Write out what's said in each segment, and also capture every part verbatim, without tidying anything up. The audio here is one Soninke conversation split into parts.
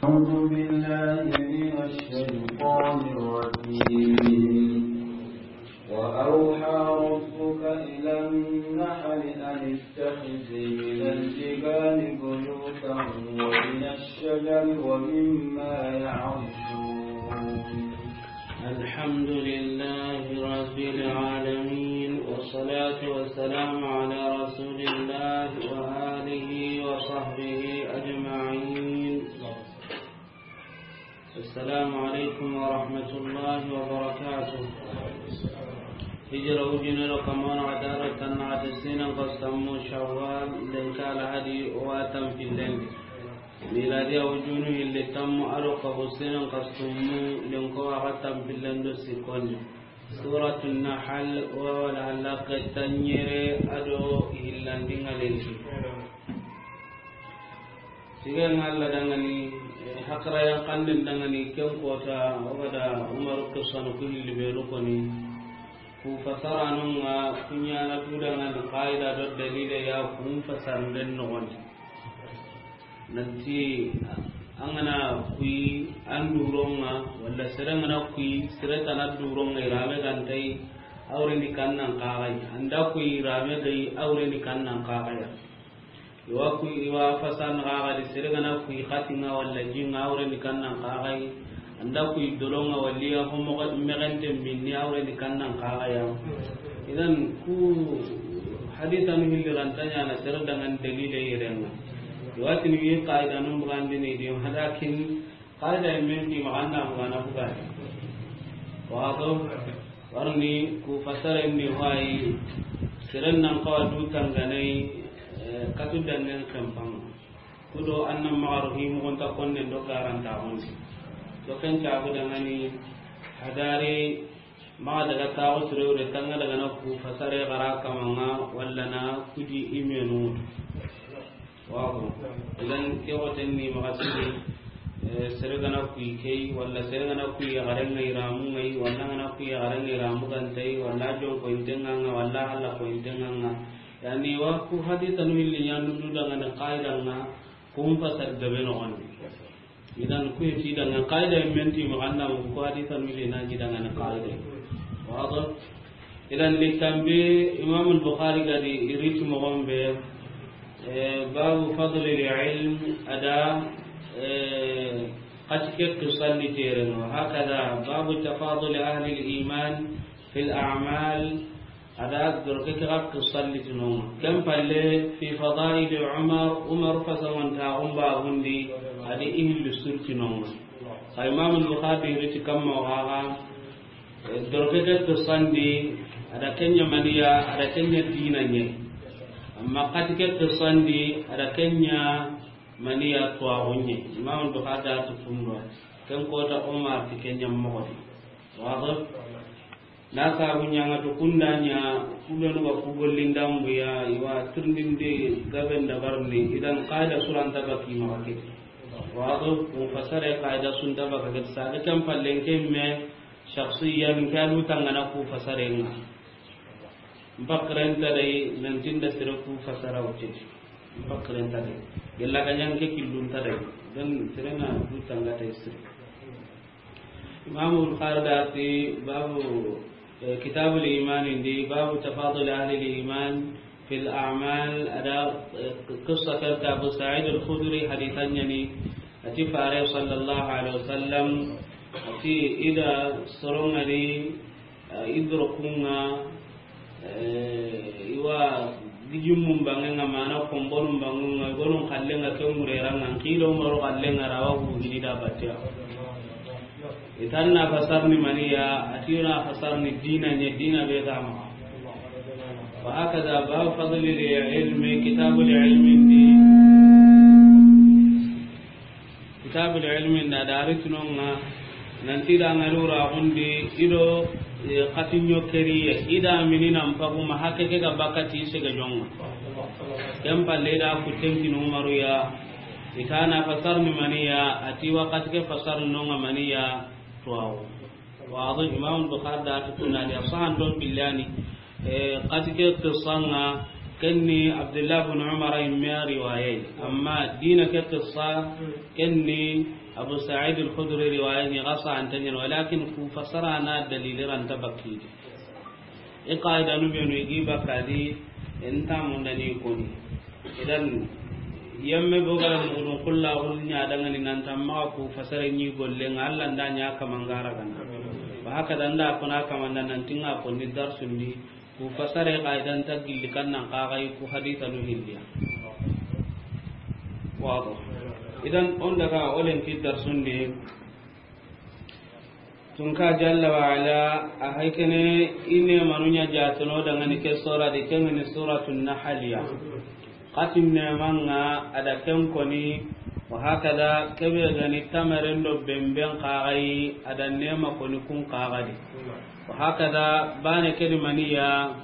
أعوذ بالله من الشيطان الرجيم. وأوحى ربك إلى النحل أن اتخذي من الجبال بيوتا ومن الشجر ومما يعرشون. الحمد لله رب العالمين، والصلاة والسلام على رسول الله وآله وصحبه أجمعين. السلام عليكم ورحمة الله وبركاته. Hijira wujune do kamana wa daro tanna ati sinan kasammu Shawwal, lenki Alhadi wa tanpillen. Miladiya wujunu hilli tammu ado kabu sinan kasammu lenki wa tanpillen do sikkonni. Suratu Nahal, wa wala halaqe tanɲere ado hillandinga lenki. Sigen ŋa Alla dangani, eh, hakara yan kanden dangani, ken kota, o ga da Umaru kisanu ku hilli benu koni. Ku fasaranun ŋa, ku ɲana tu dangani, qaida do dalile ya, kun fasarnden noxondi. Nanti, an ga na kuyi, an duron ŋa, walla sere ga na kuyi, sere tana duron ŋa, i rame ga nta yi, a wure ni kannan kaxayi. An da kuyi, i rame ga yi, a wure ni kannan kaxaya. I wa ku, i wa fasan xaxa di, sere ga na kuyi xatin ŋa walla jin ŋa, a wure ni kannan xaxayi. An da kuyi dolon ŋa walla ya ho moxo mexenten minni, a wure ni kannan xaxaya. Idan ku hadisanu hilli ranta ɲana sere dangan dalile yeren ŋa. I wa tini wi qaidanun bugandini di, walakin qaida men ti maxa an da bugana bugani. Wado, warni ku fasaren ni wayi, seren nan kawa du tanganai, eh, katu dangen kempang. Kudo annan maxaru hi mugunta konnen do garanta honsi. To ken cabu dangani hadari maxa daga taxu sirewre tanga daga na ku fasare xara kamanga walla na kudi imenu. Wago. Idan ke woten ni maxa siri, eh, sere ga na kuyi kei, walla sere ga na kuyi yaxaren ŋa i ramun ŋa yi, walla ga na kuyi yaxaren ŋa i ramu ga nta yi, walla jon ko intenga ŋa, walla halla ko intenga ŋa. Yani wa ku hadisanu hilli ɲandu du dangani qaidan ŋa, kun fasar gabe noxondi. Idan ku ti dangani qaida men ti maxa an da ko hadisanu hilli na ji dangani qaida. Wado. Idan littanbe Imam al-Bukhari ga di i riti moxon be, eh, babu fadli al-ilm a da, eh, xati ke qisan di tere no. Hakada babu tafaduli ahli al-iman fil a'mal. A da doroke ke ga qisan di tinonga. Ken palle fi fadaili Umar, Umar fasamantaxun babundi, a di i hilli sur tinonga. Xa Imam al-Bukhari riti kamma waxa, eh, doroke ke qisan di, a da ken ɲa maniya, a da ken ɲa dina ɲa. Amma xati ke qisan di, a da ken ɲa maniya tuwaxu ɲa. Imam al-Bukhari da tu kundo. Ken kota Umar ti ken ɲa moxo di. Wado. Na sabu ɲanga to kunda ɲa, kubenu ga ku gollindambuya, i wa tirindinde gaben dabarni, idan qaida suranta baki maxa ke. Wado, ku fasare qaida sunta baka ke, saga ken pallen ke me, shakhsiyan ke alu tangana ku fasare ŋa. Mpakren ta dai, nantinda sere ku fasara wuce. Mpakren ta dai. Gella ga ɲanke killun ta dai. Dan sere na du tangata sere. Imam Bukhari da ti babu, eh, kitabul iman indi, babu tafadul ahli al-iman fil a'mal, a da, eh, qissa karta Abu Sa'id al-Khudri hadithan yani, a ti fare sallallahu alaihi wasallam, a ti ida sorongari, eh, idro kunga, Eh, i wa gijimmun bangenga mana kombonun bangenga, i gonun kallenga ke mureranga, n kilo maro kallenga rawa gu gini da batia. Itan na fasarni maniya, ati na fasarni dina ɲa, dina be ga maxa. Wa hakada babu fadli al-ilmi, kitabul ilmi ndi. Kitabul ilmi nda dari tunonga, nanti da ngari wuraxundi, ido, eh, xatinɲo keriye, ida mini nan pagu ma hakke ke ga bakati sege jonga. Ken palle da kutten kinu Umaru ya, itana fasarni maniya, ati wakati ke fasarni nonga maniya, tuwawo. Wado Imam Bukhari da tukuna ni asahan don billani, eh, xati ke qissanga, Ken ni Abdullah bin Umar yimme riwaye. Amma dina ke qissa, ken ni Abu Sa'id al-Khudri riwaye ni, qissa an tanyan, walakin ku fasara na dalili ran tabakki. I qaida nu benu i gi bakadi, en ta mundani koni. Idan, yemme bogara mudun kulla hul nya dangani nan tamma ku fasara ni golle nga Allah nda nya kamangara gana. Wa haka dan da kuna kamanda nan tinga konni darsundi, ku fasare qaidan ta gilli kannan qagai ku haditha nu hilliya. Wado. Idan on daga olen ki darsundi. Tunka jalla wa ala, a haykene ine manunya jatano dangani ke sura di, kengani Suratun Nahliya. Katin ne manga ada ken koni, wa hakada kebe gani tamaren do bemben qagai ada nema koni kun qagadi. Wa hakada bane kelimaniya,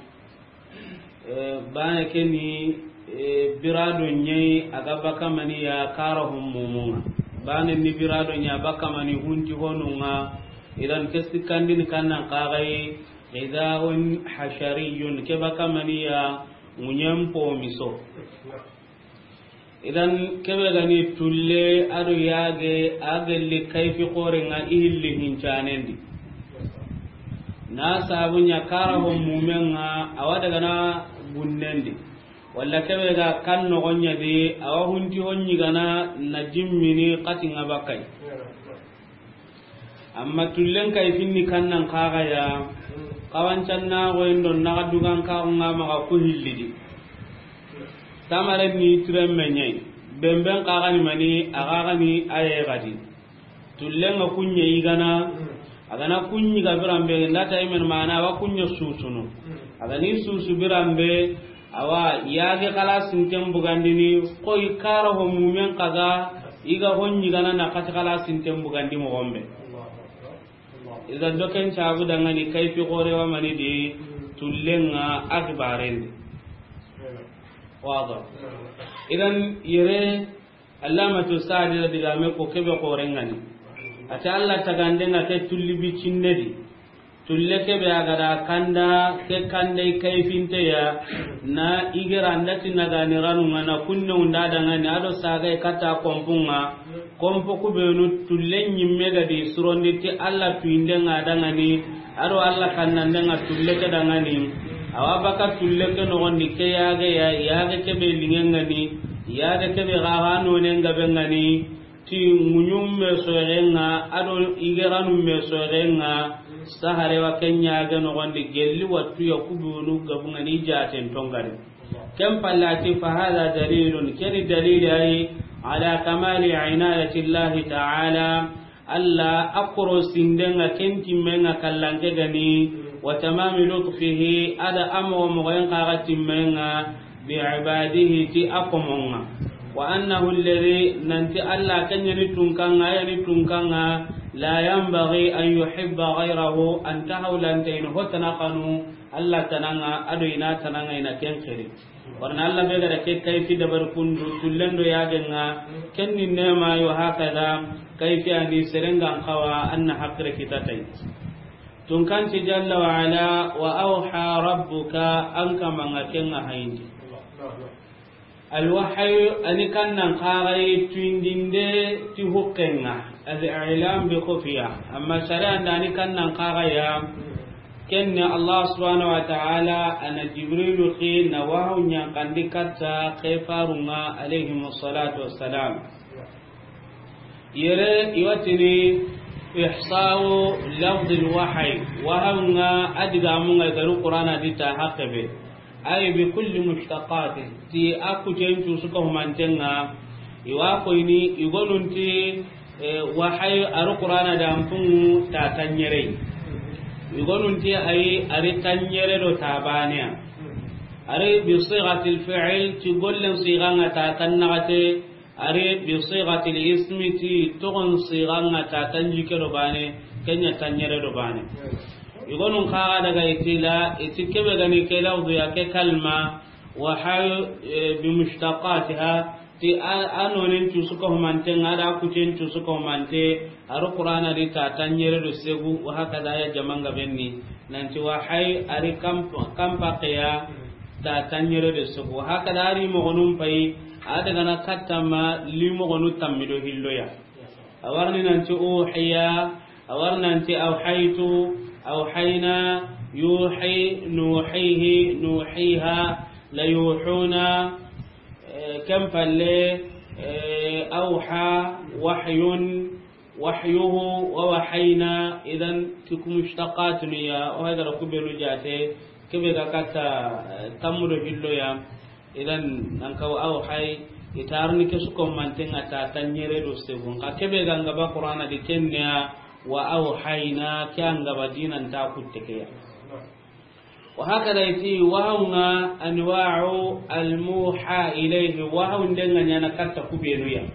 eh, bane keni, eh, birado nyai aga bakamani ya kara hummumunga. Bane ni birado nya bakamani hunti honunga. Idan kesi kandini kannan qagai, ghidhaun hashariyun, ke bakamani ya munyen pomiso. Idan kebe gani tulle ado yage, a gelli kayfi xorenga i hilli hincanendi. Na sabunya kara ho mumenga awa daga na gunnendi. Walla kebe ga kan nogonya di awa hunti honni gana na jimmini katinga bakai. Amma tullen kay finni kannan kaga ya, kawancan na goyen don na dugan ka nga maga ku hillidi. Tamare ni tiren menyai, bemben kaga ni mani, aga ga ni aye gadi. Tullen ga kunye igana, agana kunyi ga birambe, ndata imen mana wa kunye susunu. Agani susu birambe, awa, yage kala sinten bugandini, koy kara ho mumen kaga, iga honni gana na kati kala sinten bugandi mo gombe. Iga doken cabu dangani kayfi gore wa mani di, tullenga akbarendi. Wado. Idan yere Allamatu Sa'di da digame ko kebe korengani. Ati Allah tagandenga ke tulli bi cinnedi. Tulle kebe a gada kanda, ke kande kayfinte ya, na igera ndati nagani ranunga na kunne unda dangani, ado sagai kata kompunga, kompo kubenu tulle nyimme gadi surondi ti Allah tuindenga dangani, ado Allah kannandenga tulle ke dangani, awa baka tulle ke nogondi ke yage ya, yage kebe lingengani, yage kebe gaga nonenga bengani, ti ŋuɲum me soxenga, ado igeranu me soxenga, sahare wa kenya ga nogondi gelli wattu ya kubunu gabungani jaten tongari. Ken pallati fa hada dalilun, keni dalili ay ala kamali inayati Allahi ta'ala, Allah akoro sindenga ken timmenga kallanke gani, wa tamami lutfihi, ada amo mogoyen kaga timmenga, bi ibadihi, ti a komonga. Wa annahu alladhi, nanti Allah kanyani tunkanga, yani tunkanga, la yanbaghi an yuhibba ghayrahu, anta hawlanta ina hotana kanu, Allah tananga, ado ina tananga ina ken xiri. Warna Allah be gada ke kayfi dabar kundu, tullendo yagenga, kenni nema yo hakada, kayfi ani serengan kawa, anna hakre kitatai. Tunkanti jalla wa ala, wa awha rabbuka, an kamanga kenga hayindi. Alwahyu, ani kannan kaxayi tuindinde ti hukkenga, al-i'lam bi khufiya. Amma shari'a nda ani kannan kaxaya, kenne Allah subhanahu wa ta'ala ana Jibrilu xi na wahu ñankandi katta ke farunga alayhim salatu wassalam. Yere iwatini ihsa'u lafdil wahyi, wahawunga adigamunga garu Qur'ana dita haqqe be. Ay bi kulli mushtaqati, ti a kucen cusu ka humantenga, iwa koyni igonunti, eh, wahayi aru Qur'ana da ampungu ta tanyere. Igonunti ayi ari tanyere do tabaneya. Ari bi sighatil fi'l, ti gollen siganga ta tannagate, Ari bi sighatil ismi, ti togon siganga ta tanjike do bane, kenya tanyere do bane. Igonun kaga daga itila, iti kebe gani ke lafdu ya ke kalma, wa hal, eh, bi mushtaqatiha, ti a, a nonen cusu ka humantenga, ada kucen cusu ka humante, aru Qur'ana di ta tanyere do segu, wa hakada ya jamanga benni. Nanti wa hay ari kamp-, kampa qeya, Ta tanɲere de sogo. Hakada a ri mogonun payi, a daga na katta ma li mogonu tammi do hilloya. A warni nanti uhiya, a warni nanti awhaytu, awhayna, yuhi, nuhihi, nuhiha, la yuhuna, eh, ken palle, eh, awha, wahyun, wahyuhu, wa wahayna, idan ti ku mushtaqatun ya, o haydara ku benu jate, kebe ga katta, eh, tammu do hilloya, idan nan kaw awhay, itarni ke su ko mantenga ta tanɲere do segun. Ka kebe ga ngaba Qur'ana di kenya, wa awhayna, ke angaba dinan ta kutte ke ya. Wa hakada iti wahawunga anwa'u almuha ilayhi, wahawundenga ɲana katta kubenuya.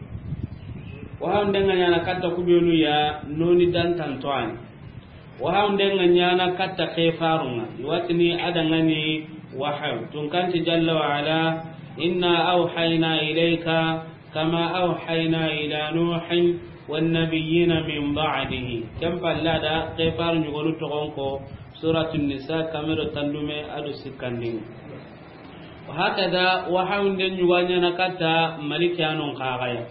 Wahawundenga ɲana katta kubenuya, noni dantantoani. Wahawundenga ɲana katta kefarunga, iwatini adangani wahaw. Tunkanti jalla wa ala, inna awhayna ilayka kama awhayna ila Nuhin wan nabiyyina min ba'dihi. Ken palla da kefar ɲugonu togonko, Suratun Nisa, kamero tandume ado sikkandin. Wa hakada, wahawunde ɲuganyana katta Maliki anon kagaya.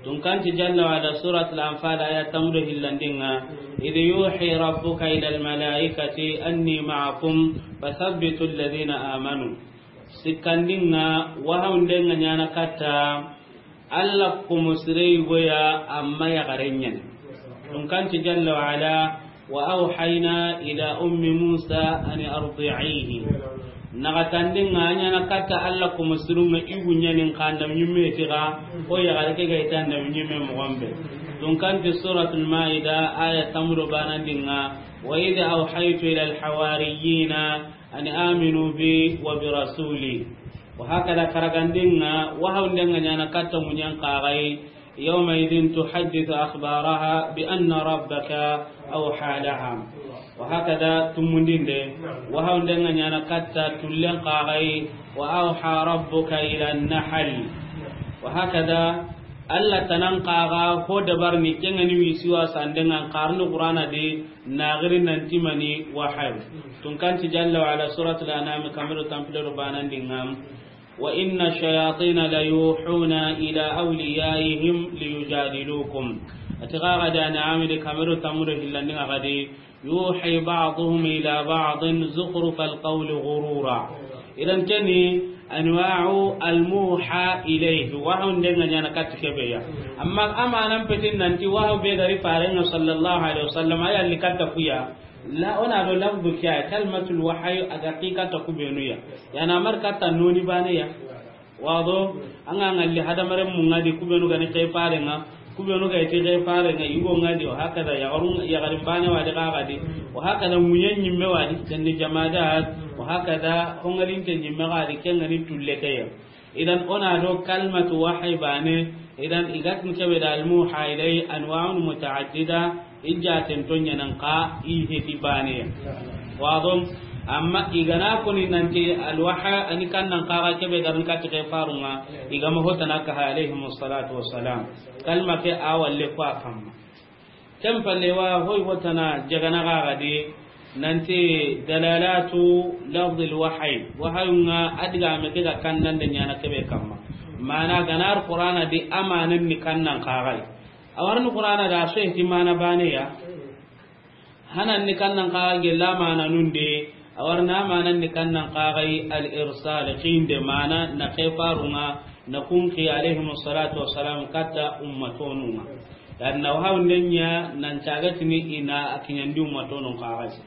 Tunkanti jalla wa ala, Suratul Anfal, aya tamudo hillandinga, idh yuhi rabbuka ila almalaikati anni ma'akum fathabbitu alladhina amanu. Sikkandinga, wahawundenga ɲana katta Allah komo sire yigoya, amma yaxaren ɲani. Tunkanti jalla wa ala, wa awhayna ila ummi Musa an ardi'ihi. Naxatandinga a ɲana katta Allah komo sirunga, igu ɲanin kanda ɲimme tiga, o yaxare ke ga ita nda ɲimme moxonbe. Tunkanti Suratul Maida, aya tamudo banandinga, wa idh awhaytu ila alhawariyina an aminu bi wa bi rasuli. Wa hakada, karagandinga, wahawundenga ɲana katta ŋuɲen kaxayi, yawma idhin tuhaddithu akhbaraha bi anna rabbaka awha laha. Wa hakada, tumundinde, wahawundenga ɲana katta tullen kaxayi, wa awha rabbuka ila nahl. Wa hakada, Allah tanan kaga ho dabarni kengani wisiwa sandengan karni Qur'ana de, naxiri nanti mani wahayu. Tunkanti jalla wa ala, Suratul Anam, kamero tampilero banandinga, wa inna shayatina la yuhuna ila awliyaihim liyujadilukum. Ati gaga da na amide kamero tamudo hillandinga gadi, yuhi ba'duhum ila ba'din zukhrufal qawli ghurura. Idan keni anwa'u almuha ilayhi, wahawundenga ɲana katti kebeya. Amma amanan petin nanti wahaw be gari farenga sallallahu alaihi wasallam, aya li katta kuya. La, ona do lafdu kiya, kalmatul wahyi, aga ki katta kubenuya. Yana mar katta noni baneya. Wado, anga ngalli hadamaren mungadi kubenu gani kefarenga, kubenu ga iti kefarenga, igo ngadi, wa hakada, yaxarin bane wadi kagadi, wa hakada, ŋuɲen ɲimme wadi, kendi jamadat, wa hakada, hongalinte ɲimme gadi, kengani tulle keya. Idan ona do kalmatu wahayi bane, idan igatni kebe da almuha ilay anwa'un muta'addida, ijaten to ɲanan ka i heti baneya. Wado, amma igana koni nanti alwaha ani kannan kaga kebe garin katti kefarunga, igama hotana kaha alayhimus salatu wassalam. Kalma ke awalle ko akamma. Ken palle wa hoy hotana jagana gagadi nanti dalalatu lafdil wahayi. Wahayunga adigame ke ga kannande ɲana kebe kamma. Mana ganar Qur'ana di amanan ni kannan kagai. Awarni Qur'ana da so heti mana baneya. Hanan ni kannan kagai gella mana nunde. Awarna manan ni kannan kagai al irsal, kinde mana na kefarunga, na kunki alayhimus salatu wassalam katta ummatonunga. Dan na wahawunden ɲa nan cagatini ina a kiɲandi ummatonun kaxasi.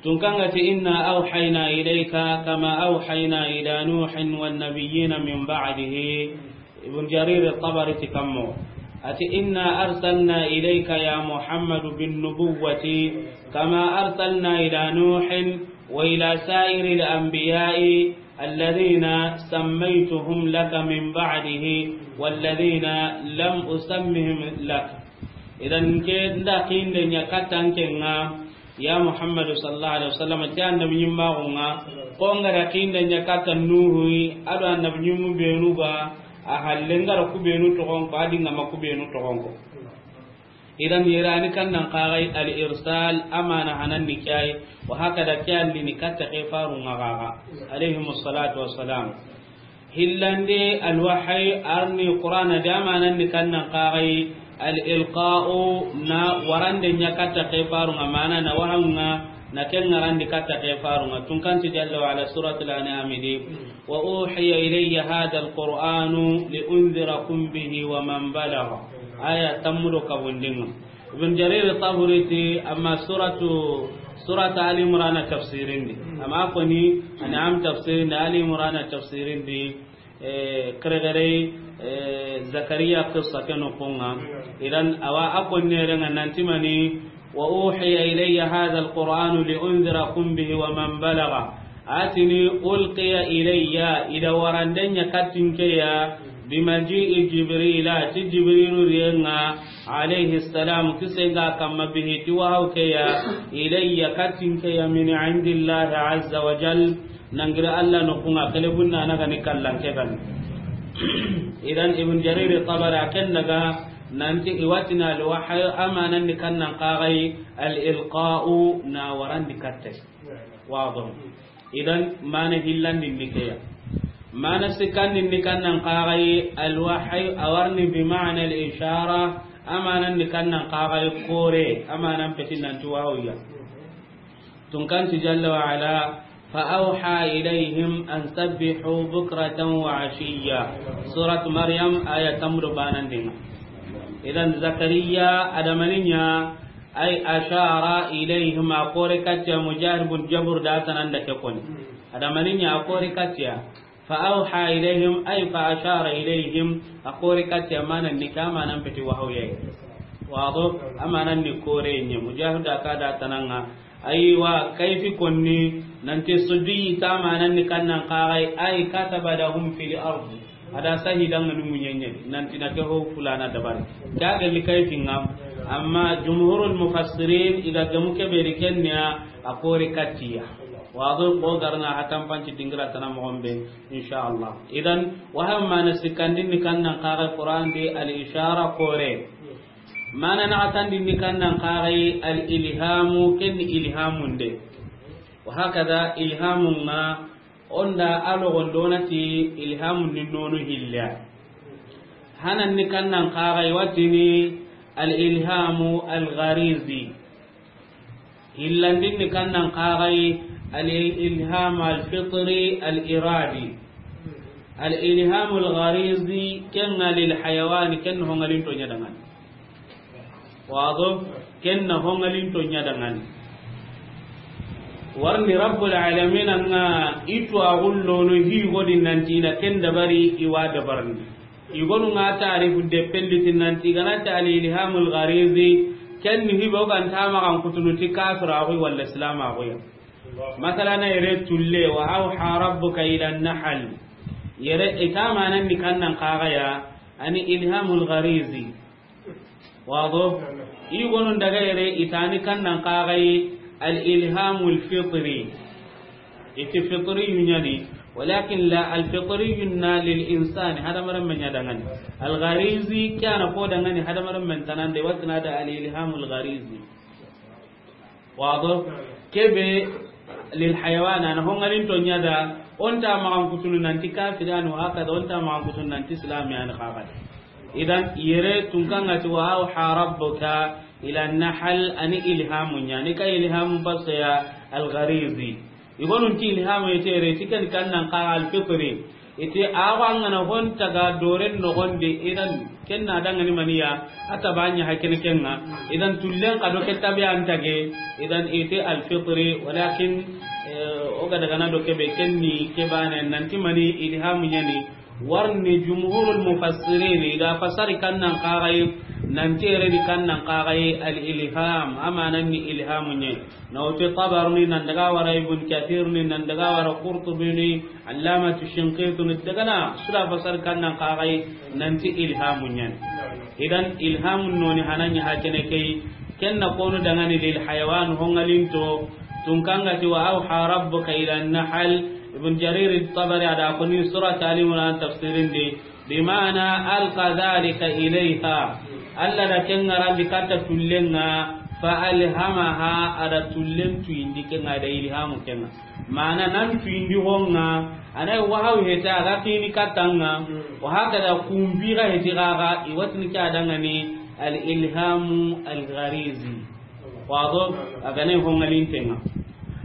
Tunkangati, inna awhayna ilayka kama awhayna ila Nuhin wan nabiyyina min ba'dihi. Ibn Jarir at-Tabari ti kammo. Ati, inna arsalna ilayka ya Muhammadu bin nubuwwati kama arsalna ila Nuhin wa ila sa'iril anbiya'i alladhina sammaytuhum laka min ba'dihi walladhina lam usammihim lak. Idan ke nda kinde ɲa katta nkenga, ya Muhammadu sallallahu alaihi wasallam, ti annabi ɲimmaxunga, ko ngara kinde ɲa katta Nuhu, ado annabi ɲimmu benu ga, a halle ngara ku benu toxon ko, adi ngama ku benu toxon ko. Idan yere a ni kannan kaxay al-irsal, a mana hanan ni ke yi, wa hakada ke an di ni katta ke farun ŋa xaxa, alayhimu salatu wassalam. Hillande al-wahyi, a ri ni Qur'ana di, a manan ni kannan kaxay al-ilqa'u, na warande ɲa katta ke farun ŋa, mana na wahawun ŋa, na ken ŋarandi katta ke farun ŋa. Tunkanti jalla wa ala, suratul An'am di, "Wa uhiya ilayya hadha al-Qur'anu li unzirakum bihi wa man balagha." Aya tammu do kabundin ŋa. Ibn Jarir Tabari ti, amma suratu, surata Ali Imran tafsirin di. Amma koni, An'am tafsirin di, Ali Imran tafsirin di, eh, kere kere, eh, Zakariya qissa ke noxon ŋa. Idan awa a konne renga nanti mani, "Wa uhiya ilayya hadha al-Qur'anu li unzirakum bihi wa man balagha." A ti ni, "Ulqiya ilayya," i da warande ɲa katta in ke ya, "bi maji'i Jibrila," ti Jibrilu riyen ŋa, alayhi salam, kisen ga kamma, "bihi," ti wahaw ke ya, "ilayya," katta in ke ya, "min indillahi azza wa jal," nangiri Allah noxun ŋa, kele bunna na ga ni kallan ke ga ni. Idan Ibn Jarir Tabari a ken daga nanti i wa ti na al-wahyu, a manan ni kannan kaxay al-ilqa'u, na warandi katta. Wado. Idan mana hillandin ni ke ya. Mana sikkandin ni kannan kaxay al-wahyu, a wa ri ni bi ma'na al-ishara, a manan ni kannan kaxay kore, a manan peti nanti wahaw ya. Tunkanti jalla wa ala, "Fa awha ilayhim an sabbihu bukratan wa ashiyya." Surat Maryam, aya tammu do banandin ŋa. Idan Zakariya a da mani ɲa, ay ashara ilayhim, a kore katta, Mujahid bin Jabr da tananda ke koni. A da mani ɲa, a kore katta. Fa awha ilayhim, ay fa ashara ilayhim, a kore katta, mana ni ke, mana peti wahaw ya. Wado, a mana ni kore ɲa, Mujahid a ka da tananga. Aywa, kayfi konni, nanti suddi ta mana ni kannan kaxay, ay kataba lahum fil ardi. A da sahidan ŋa ni munyenye, nanti na ke ho fulana dabari. Ka ga li kayfin ŋa, amma jumhurul mufassirin i ga gemu ke be ri ken ya, a kore katta ya. Wado, ko garna hatan panci dingira tana moxon be. Insha Allah. Idan, wahaw mana sikkandin ni kannan kaxay Qur'an di al-ishara kore. Mana naxatandin ni kannan kaxay al-ilhamu, ken ni ilhamun de. Wa hakada ilhamun ŋa, o nda a loxon do na ti ilhamun ni nonu hilla. Hanan ni kannan kaxay wa ti ni al-ilhamu al-gharizi. Hillandin ni kannan kaxay al-ilham al-fitri al-iradi. Al-ilham al-gharizi, ken ŋa lil hayawan, ken ho ŋalinto ɲa dangani. Wado, ken na ho ŋalinto ɲa dangani. Wa ri ni Rabbul alamin ŋa i tu a gullono hi godi nanti na ken dabari, i wa dabarni. I gonu ŋa tarifu de pendi ti nanti ga na ti al-ilhamul gharizi, ken ni hibe o ga nta maxa n kutunu ti kafiraxu walla islamaxu ya. Masala na yere tulle, "Wa awha rabbuka ila an-nahl." Yere i ta manan ni kannan kaxay ya, ani ilhamul gharizi. Wado? I gonu daga yere i ta ni kannan kaxay al-ilhamul fitri. Iti fitriyu ɲa ni, walakin la, al-fitriyu na lil insani, hadamarenme ɲa dangani. Al-gharizi, ke a na ko dangani hadamarenmen tanande, wa ti na da al-ilhamul gharizi. Wado? Kebe lil hayawan, a na ho ŋalinto ɲa da, o nta maxa n kutunu nanti kafiri yani, wa hakada, o nta maxa n kutunu nanti islami yani, hakada. Idan, yere tunkan ŋa ti, "Wa awha rabbuka ila an-nahl," ani ilhamu ɲa ni, ka ilhamu baso ya al-gharizi. I gonu ti ilhamu ite yere, ti ken kannan kaxay al-fitri. Ite awa ŋa na ho nta ga doren noxon di, idan ken na dangani mani ya, a ta ba ɲa ha ken ken ŋa. Idan tullen xa do ke tabe an tage, idan ite al-fitri, walakin, eh, o ga daga na do kebe ken ni ke bane nanti mani ilhamu ɲa ni. Wa ri ni jumhurul mufassirin i da fasari kannan kaxay nanti yere ni kannan kaxay al-ilham, a manan ni ilhamu ɲa. Na wuti Tabarni, nan daga wara Ibn Kathir ni, nan daga wara Qurtubi ni, Allamatu Shinqiti ni, daga na sura fasari kannan kaxay nanti ilhamu ɲa ni. Idan ilhamun noni hanan ɲa ha kene ke yi, ken na konu dangani lil hayawan, ho ŋalinto, tunkan ŋa ti, "Wa awha rabbuka ila an-nahl." Ibn Jarir Tabari a da koni surat Ali Imran tafsirin di, bi ma'na alqa dhalika ilayha. Alla da ken ŋarandi katta tullen ŋa, fa alhamaha, a da tullen tuyindi ken ŋa, a da ilhamu ken ŋa. Mana nan tuyindi ho ŋa, a na wahayu hete a ga kini katta ŋa, wa hakada kumbi ga heti ga ga, i wa tini ke a da ŋa ni al ilhamu al gharizi. Wado, a ga na ho ŋa linten ŋa.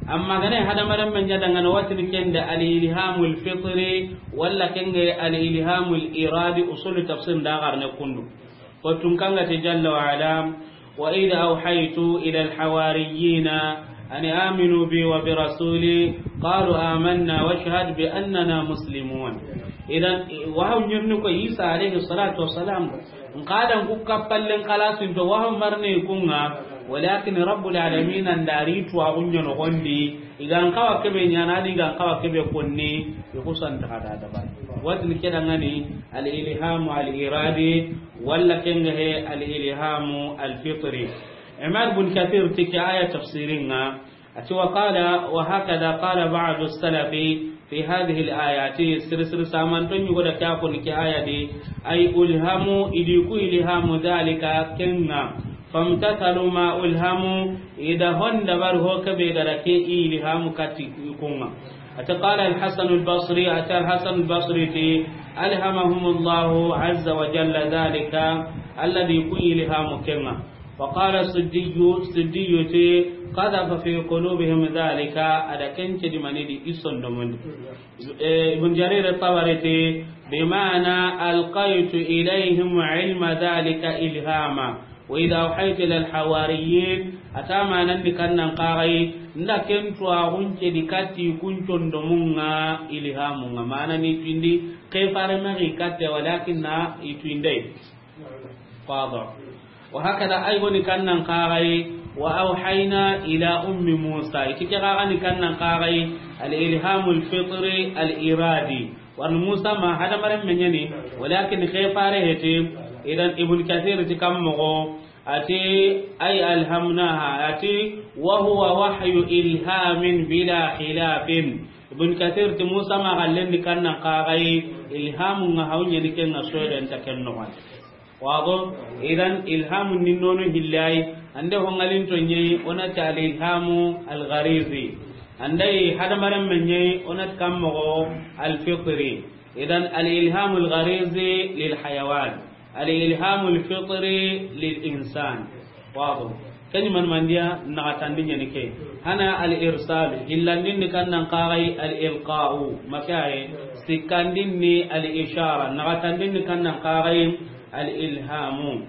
Amma a ga na hadamaren men ɲa da ŋa ni, wa tini ken da al ilhamu al fitri, walla ken ŋa al ilhamu al iradi, usul tafsir da ga ri ne kundu. Ko tun kan ga ti jalla wa ala, wa idh awhaytu ila al-hawariyina an aminu bi wa bi rasuli, qalu amanna washhad bi annana muslimun. Idan, wahaw ɲirni ko Isa alayhi salatu wassalam, n ka da n ku kappallen xalasin to wahaw marne kun ŋa, walakin Rabbul alamin an da ri tuwaxu ɲa noxondi, i ga n xawa kebe ɲaana di, i ga n xawa kebe konni, i xusan taxa da dabari. Wa tini ke da ŋa ni al ilhamu al iradi, walla ken ŋa he al ilhamu al fitri. Imam Ibn Kathir ti ke aya tafsirin ŋa, a ti wa qala, wa hakada qala ba'du salafi fi hadhihi al ayati, siri siri samanto ɲugo da ke a ko ni ke aya di, ay ulhamu, i di ku ilhamu dhalika ken ŋa, famtathalu ma ulhamu, i da hon dabari ho kebe ga da ke ilhamu kati kun ŋa. A ti qala al-Hasan al-Basri, a ti al-Hasan al-Basri ti, alhamahumullahu azza wa jalla dhalika, Alla di ku ilhamu ken ŋa. Wa qala Suddiyu, Suddiyu ti, qadhafa fi qulubihim dhalika, a da ken cedi mani di i sondomun di. Eh, Ibn Jarir al-Tabari ti, bima'na alqaytu ilayhim ilma dhalika ilhama. Wa idha awhaytu ila al-hawariyin, a ta manan di kannan xaxay, n da ken tuwaxun cedi katti kun sondomun ŋa ilhamu ŋa. Mana ni tuyindi, ke fare maxi katte, walakin na i tuyinde. Wado. Wa hakada ay goni kannan xaxay, wa awhayna ila ummi Musa. I ti ke xaxa ni kannan xaxay, al ilhamu al fitri al iradi. Warni Musa ma hadamaren men ɲa ni, walakin ke fare heti. Idan Ibn Kathir ti kan moxo, a ti, ay alhamnaha, a ti, wa huwa wahyu ilhamin bila khilafin. Ibn Kathir ti Musa ma xallen di kannan xaxay, ilhamu ŋa haw ɲa ni ken ŋa soyden ta ken noxon. Wado, idan ilhamu ni nono hillay, ande ho ŋa linto ɲi, o na ti al ilhamu al gharizi. Ande hadamaren men ɲi, o na ti kan moxo al fitri. Idan al ilhamu al gharizi lil hayawan, al ilhamu al fitri lil insan. Wado. Ken ni man mandiya naxatandi ɲa ni ke. Hana al irsal, hillandin ni kannan xaxay al ilqa'u, makaye, sikkandin ni al ishara, naxatandin ni kannan xaxay al ilhamu.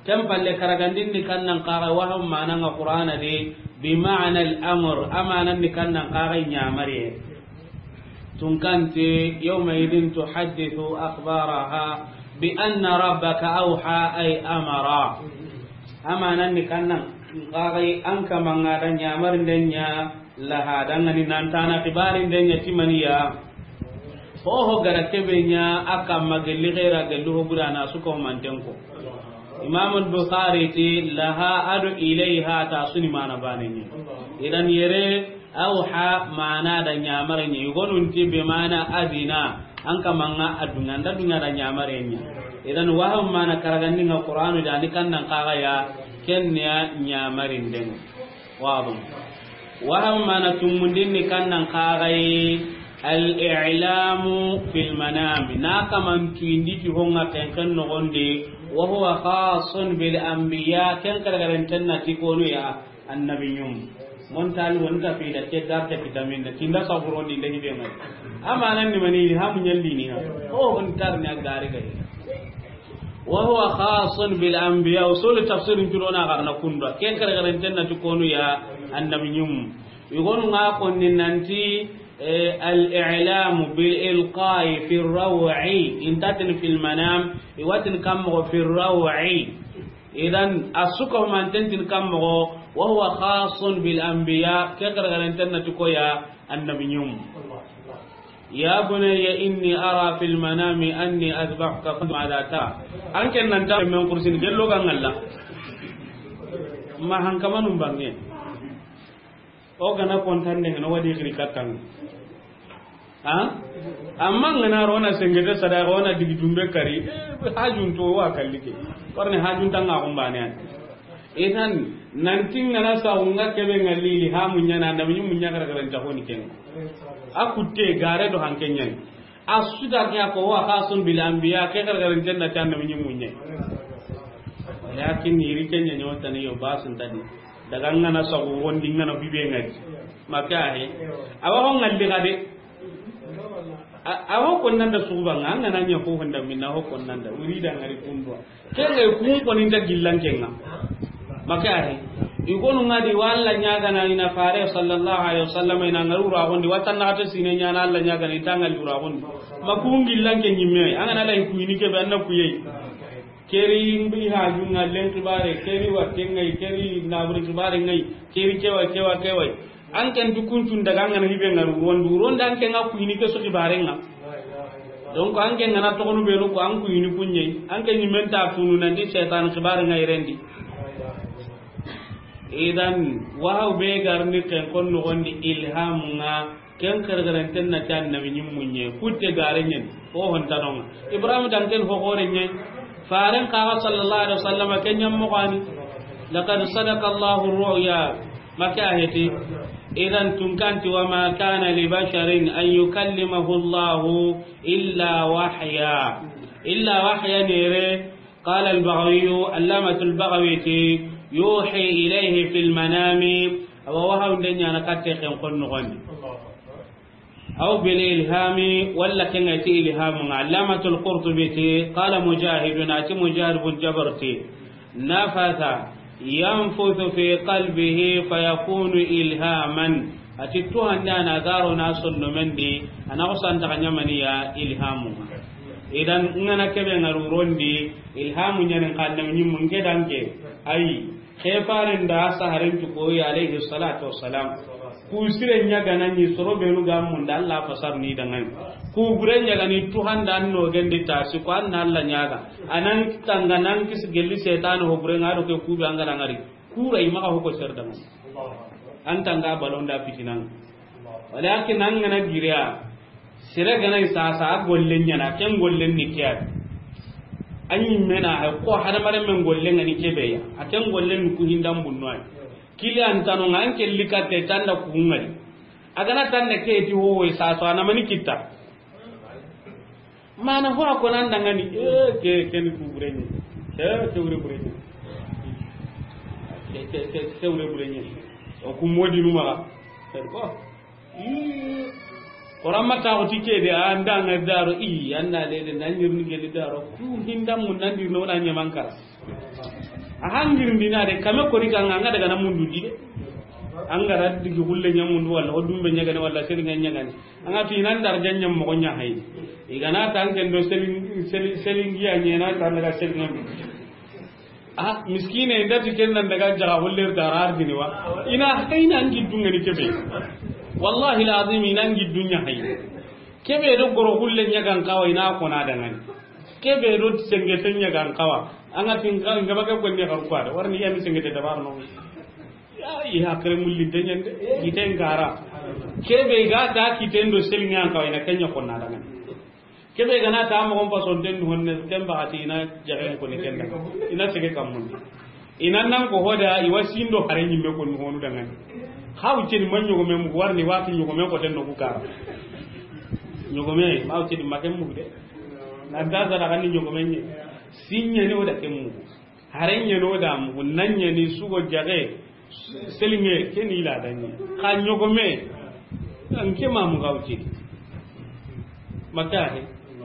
Ken palle karagandin ni kannan xaxay wahaw manan ŋa Qur'ana di, bi ma'na al amr, amanan ni kannan xaxay ɲamariye. Tun kan ti, yawma idhin tuhaddithu akhbaraha bi anna rabbaka awha ay amara. Amanan ni kannan xaxay an kaman ŋa da ɲamarinden ɲa laha da ŋa ni nan tana xibarinden ɲa ti maniya. Ho ho ga da kebe ɲa a kamma gelli xera gelli ho gudana su ko manten ko. Imam al-Bukhari ti laha ado ilayha ta suni mana banen ɲa. Idan yere Awha mana da ɲamare ɲa, i gonun ti bi mana adina, an kaman ŋa a duŋa, an da duŋa da ɲamare ɲa. Idan wahaw mana karagandin ŋa Qur'anu da ni kannan xaxaya, ken ya ɲamarinden. Wado. Wahaw mana tumundin ni kannan xaxay, al-i'lamu fil manami. Na kaman tuyindi ti ho ŋa ken ken noxon di, wa huwa khassun bil anbiya, ken karagaranten na ti konu ya. Annabi ɲum. Mon tali won ta fi da ke dar ta vitamin da tinda saburo ni da hibe mai. Amanan ni mani ilhamu ɲalli ni ha. O on tar ni a gari gari. Wa huwa khassun bil anbiya. Usul tafsir in turo na garna kunda. Ken karagaranten na ti konu ya annabi ɲum. I gonu ŋa konni nanti, eh, al-i'lamu bil ilqa'i fi raw'i. Intatin fil manam. I wa tin kammo fi raw'i. Idan, a su ko manten tin kammo, wa huwa khassun bil anbiya, ke karagaranten na ti ko ya annabi ɲum. Ya bunayya inni ara fil manami anni azbahuka fanzur madha tara. An ken nan ta men kursin gello ga ŋalla. Ma hankamanun bange. O gana kontande ŋa na wadi xiri kattan. Ha? Amma n ga na ro na sengete sadaka, o na digi dumbe kari, eh, hajun to wa kallike. Warni hajun tanga kumbane an. Idan, nanti n ga na sa unga kebe ngalili ha munya na, na munya kara kara nta honi ken. A kutte gare do hanken yan. A su da ke ko wa khasun bil anbiya, ke kara kara nta na tan na munya munya. Walakin iri kenya nyota ne yo basun tadi. Daga n ga na sa wondi n ga na bibe ngadi. Maka he. Awa ko ngalli gade. A, a ho konnanda suguba nga, an ga na ɲa ho honda minna ho konnanda, wuri da ngari kundwa. Ke ga kun koni nta gillan kenga. Maka he. I gonu ngadi walla ɲaga na ina fare sallallahu alaihi wasallam ina ngaru ra gondi, watan na ta sine ɲa na Allah ɲaga ni tanga lura gondi. Ma kun gillan ke ɲimme, an ga na lay kuyini ke be an na kuyai. Keri mbi haju nga len kibare, keri wa kengai, keri naburi kibare ngai, keri kewa, kewa, kewa. An ken du kuncun daga an ga na hibe ngaru rondu, ronda an ken ga kuyini ke so kibare nga. Donc an ken ga na togonu benu ko an kuyini kunye, an ken ni menta tunu nandi setan kibare ngai rendi. Idan, wahaw be garni ken kon no gondi ilham nga, ken kergeren ten na tan nabi nyim munye, kutte gare nyen, o hon tanonga. Ibrahim dan ken ho gore nyen, faren kaga sallallahu alaihi wasallam ken nyam mo gani. Laqad sadaqa Allahu ru'ya, maka heti. Idan tunkanti wa ma kana li basharin an yukallimahu Allahu illa wahya. Illa wahya nere, قال البغوي، علامة البغوي تي، يوحي إليه في المنام، أو وحي دنيا نكتي خن قل نغني. أو بالإلهام، ولا كنغتي إلهام. علامة القرطبي تي، قال مجاهد، أتي مجاهد بن جبر تي، نفث ينفث في قلبه فيكون إلهاما. Ati tuhande a na garo na sonno mendi, a na ko santa ka ɲamani ya ilhamu. Idan, ngana kebe ngaru rondi, ilhamu ɲanen kanne nyimmu nge danke. Ay, khefaren da saharen tu ko ya alayhi salatu wassalam. Ku sire ɲaga na ni soro benu ga mun da Allah fasar ni dangan. Ku bure ɲaga ni tuhanda an no gende ta si ko an na Allah ɲaga. Anan tanga nan kis gelli setan ho bure ngado ke ku be angara ngari. Kura i maxa hoko ser dama. An tanga balonda fitinan. Walakin an gana giriya. Sere gana i sasa a gollen ɲana, ken gollen ni kiya. An yi mena ha ko hadamare men gollen ngani kebe ya. A ken gollen ni ku hindan bunno ay. Kili an tano ngan ke likate tanda ku ngari. A gana tanda ke ti ho sasa na mani kitta. Mana ho a ko nan dangani, eh, ke, ke ni ku bureni. Ke, ke wure bureni. Ke, ke, ke, ke wure bureni. O ku modi nu maxa. Ko. Ih. Koran ma ta ko tike de, an da nga daro, i, an na le de, nan yirni geli daro. Ku hinda mun nan dirno na ɲaman kara. A hangirindina de, kame kori kanga, anga daga na mundu di de. Anga ra digi hulle ɲa mundu wala, o dumbe ɲagane wala, seli ɲa ɲagane. Anga tu inan dar janɲa mo ɲa hay. Igana tan ken do seli, seli, seli ngiya ɲena tan daga seli ɲa. Ah, miskine, inda ti ken nan daga jaga hulle darar dini wa. Ina hayna ngi dungani kebe. Wallahi lazim ina ngi dunya hay. Kebe do goro hulle ɲagan kawa ina ko na dangani. Kebe do sengete ɲagan kawa. Anga tin ka ngaba ke ko ne xaru kwa. Warni ya mi sengete dabar no. Ya, i hakre mulli de ɲande, iten gara. Kebe ga ta kiten do seli ɲan ka ina kenya ko na daga. Kebe gana ta mo on pason den honne, ken ba ati ina jagen ko ni kenda. Ina sege kamun. Ina nan ko hoda i wasindo hare nyimme ko ni honu daga. Haw cin man ɲogome mu warni wati ɲogome ko ten no ku kara. Ɲogome, ma haw cin ma ken mu de. Na da zara kan ɲogome ni. Sinya ni oda ken mu. Hare ɲeno da mugu, nan ɲeni sugo jage, selinge, ke ni la danni. Ka ɲogome, an ke ma muga wuce. Maka he,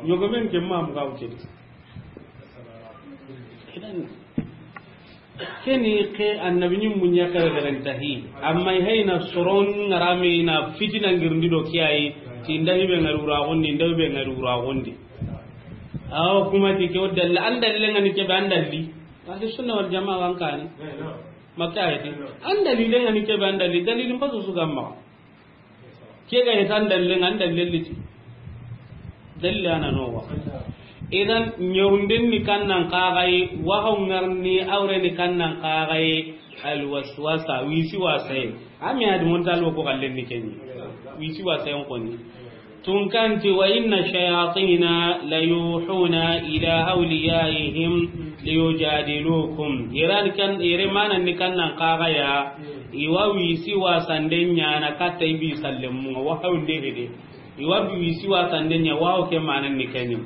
ɲogome ke ma muga wuce. Ke ni ke annabi ni munya kare kare tahi. Amma hayna soron ngarame ina fitina ngirndi do kiyayi, tinda hibe ngarura gondi, nda hibe ngarura gondi. Aw kuma ti ke o dalla, an dalle ngani ke be an dalli. Ahli sunna wal jamaa wan kani. Makka ayati. An dalile ngani ke be an dalli. Dalilin pasu su gamma. Ke ga hetan dalle ngan dalle liti. Dalle ana no wa. Idan nyawnden ni kannan kagai, wa hawngarni awre ni kannan kagai, al waswasa, wisi wasai. Ami adi montal ko kallen ni kenni. Wisi wasai on koni. Tunkanti, وإن الشياطين ليوحون إلى أوليائهم ليجادلوكم. Iran kan, ire manan ni kannan kaga ya, iwa wisi wasanden ɲana katta ibi sallemunga, wa hawnde hede. Iwa wisi wasanden ɲa, wa ke manan ni kenyi.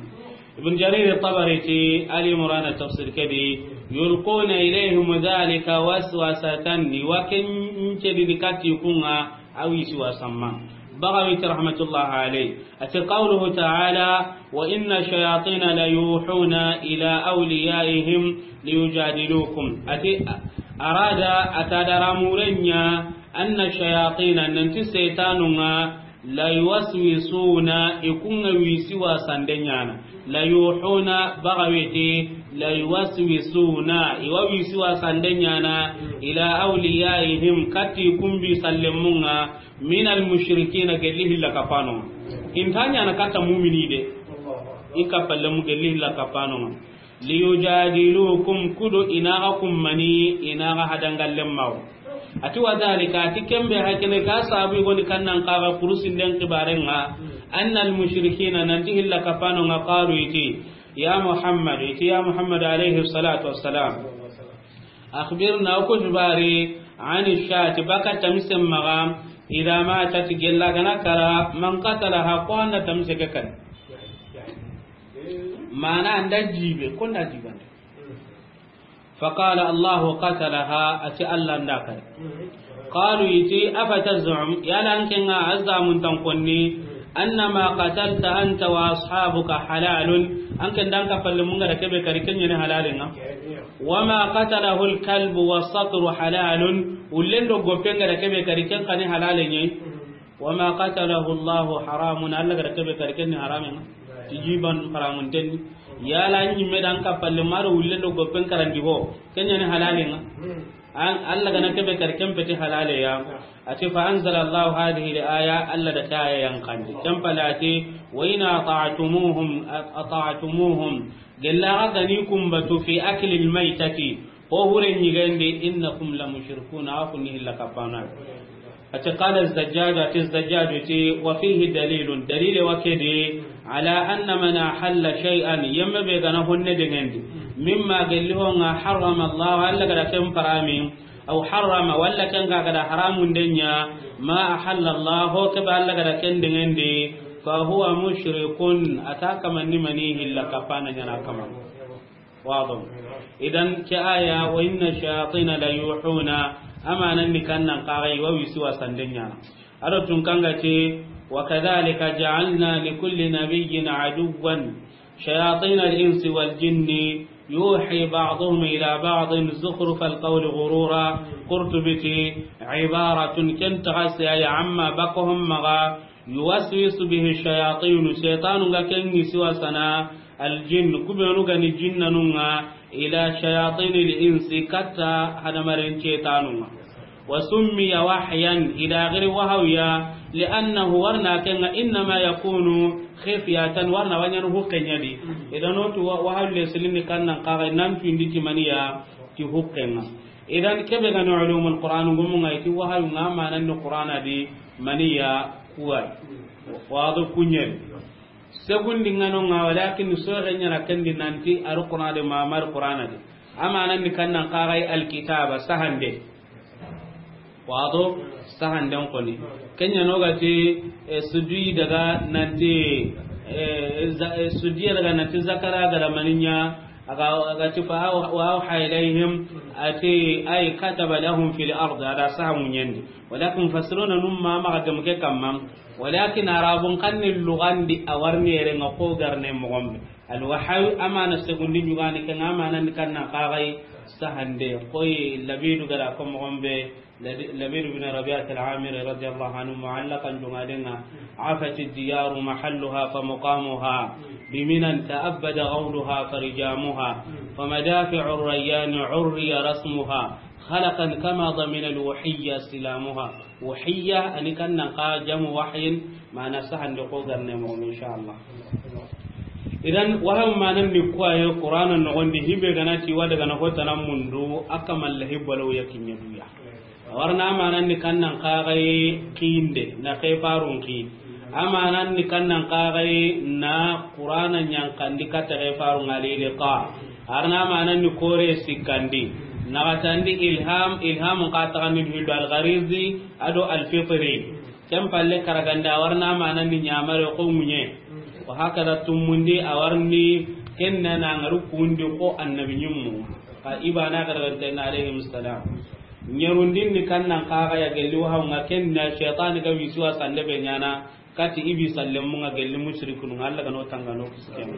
Ibn Jarir Tabari ti Ali Imran tafsir kedi, يلقون إليهم ذلك وسوسة, iwa ken cedi ni katti kunga, awi siwa samma. Bagawiti rahmatullah alayh. Ati قوله تعالى: وإن الشياطين ليوحون إلى أوليائهم ليجادلوكم. Ati أراد, ata dara murenya, أن الشياطين, nanti setanunga, ليوسوسون, ikunga wisi wasande ɲana. ليوحون, bagawiti, ليوسوسون, iwa wisi wasande ɲana, إلى أوليائهم, katti kumbi sallemunga, من المشركين, gelli hilla kapano. Intanya na katta mumini de. Ika pallemu gelli hilla kapano. ليجادلوكم, kudo inaga kummani, inaga hadangallen mawo. Ati وذلك, ati kembe hakene ka sabu goni kannan kaga kurusinden kibarenga, أن المشركين, nanti hilla kapanonga, قالوا, iti, يا محمد, iti ya Muhammad alayhi salatu wassalam, أخبرنا, oku hibari, عن الشاة, baka tamisen maga, إذا ماتت, gella gana kara, من قتلها, ko anda tamise ke kan. Mana anda jibe, ko nda jibande. فقال الله قتلها, ati Allah nda kari. قالوا, iti, أفتزعم, yala ankenga azamun tankonni, أن ما قتلت أنت وأصحابك حلال, anken danka palle munga da kebe kari kenyani halalenga. وما قتله الكلب والصقر حلال, ullendo gopenga da kebe kari ken kani halale nyai. وما قتله الله حرام, Allah gada kebe kari ken ni haramen. Tijiban haramun tenni. Yala nyimme dan kapalle maro ullendo gopen karandi ho, kenyani halalen. An Allah gana kebe kari ken peti halale ya. Ati فأنزل الله هذه الآية, Allah da ta aya yan kandi. Ken palati, وإن أطعتموهم, أطعتموهم, gella ga gani kumbatu في أكل الميتة, ho hure nyigandi, إنكم لمشركون, akunni hilla kapana. Ati قال الزجاج, ati Zajjaju ti, وفيه دليل, dalile wa kedi, على أن من أحل شيئا, yemme be gana honne dengendi, مما, gelli honga, حرم الله, Allah gada ken parami, أو حرم, walla ken ga gada haramun denya, ما أحل الله, ho kebe Allah gada ken dengendi, فهو مشرك, ata kamanni mani hilla kapana nyana kama. Wado. Idan ke aya, وإن الشياطين ليوحون, amanan ni kannan kagai wa wisi wasande nyana. Ado tun kanga ti, وكذلك جعلنا لكل نبي عدوا شياطين الإنس والجن يوحي بعضهم إلى بعض زخرف القول غرورا. Qurtubi ti, عبارة, ken taxasi aya, عما, bakohon maga, يوسوس به الشياطين, shaytanu nga ken ŋi siwasana, الجن, kubenu gani jinnanunga, إلى شياطين الإنس, katta hadamaren cetanunga. وسمي وحيا, ida giri wahawya, لأنه, warna kenga, إنما يكون خفية, warna wanyanu hukkenya di. Idan otu wa-, wahaw le silini kannan kaga nan tuindi timaniya ti hukkenga. Idan kebe gani ulumul Qur'an ngumunga iti wahaw nga manan ni Qur'ana di maniya kuwa. Wado kunyel. Segundi ngano nga, walakin soxe ɲana kendi nanti aru Qur'ana de, mamar Qur'ana de. Amanan ni kannan kagai alkitaba, sahande. Wado, sahanden koni. Kenya no gati, eh, sudi daga nanti, eh, za-, eh, sudi daga nanti zakara gada maninya, aga, aga ti fa au-, وأوحى إليهم, ati أي كتب لهم في الأرض, ada saha munyendi. Walakin mufassiruna num ma maxa gemu ke kamma. Walakin arabun kanni lugandi a warni yere nga ko garne mogombe. Al wahyu amana segundi ɲugani ke nga amana ni kannan kagai sahande. Koy Labidu gara ko mogombe, Labi-, Labidu bin Rabi'at al-Amiri radiyallahu anhu mu'allaqan jungadenga. عفت الديار محلها فمقامها، بمنى تأبد غولها فرجامها، فمدافع الريان عري رسمها، خلقا كما ضمن الوحي سلامها. Wahiyya, ani kannan ka jamu wahyin, mana sahande ko garne mo, insha Allah. Idan, wahaw manan ni kuwaye Qur'ana nogondi, hibe gana ti wada gana hotana mundu, aka malla hibbalo ya kinya duya. Warna manan ni kannan ka gai kinde, na kai farun ki. Amanan ni kannan kaxay na Qur'ana ɲankandi katta ke faru ngalili ka. Arna amanan ni kore sikandi. Naxatandi ilham, ilham ka taxandi hildo al-gharizi, ado al-fitri. Ken palle karaganda warna amanan ni ɲamare ko ŋuɲe. Wa hakada tumundi awarni kenna na ngaru kundi ko annabi ɲimmu. Ka ibana karaganta na alayhi salam. Ɲerundin ni kannan kaxaya gelli wahaw nga kenna shaytan ga wisiwa sande be ɲana. Kati ibi sallemunga gelli mushrikun nga Allah gano tangano kisken.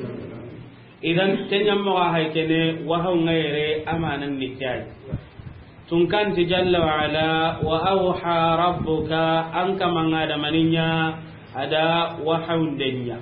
Idan kenyammo ga hay kene wahaw nga yere amanan ni kiyai. Tunkanti jalla wa ala wa awha rabbuka an kama nga da maninya ada wahaw ndenya.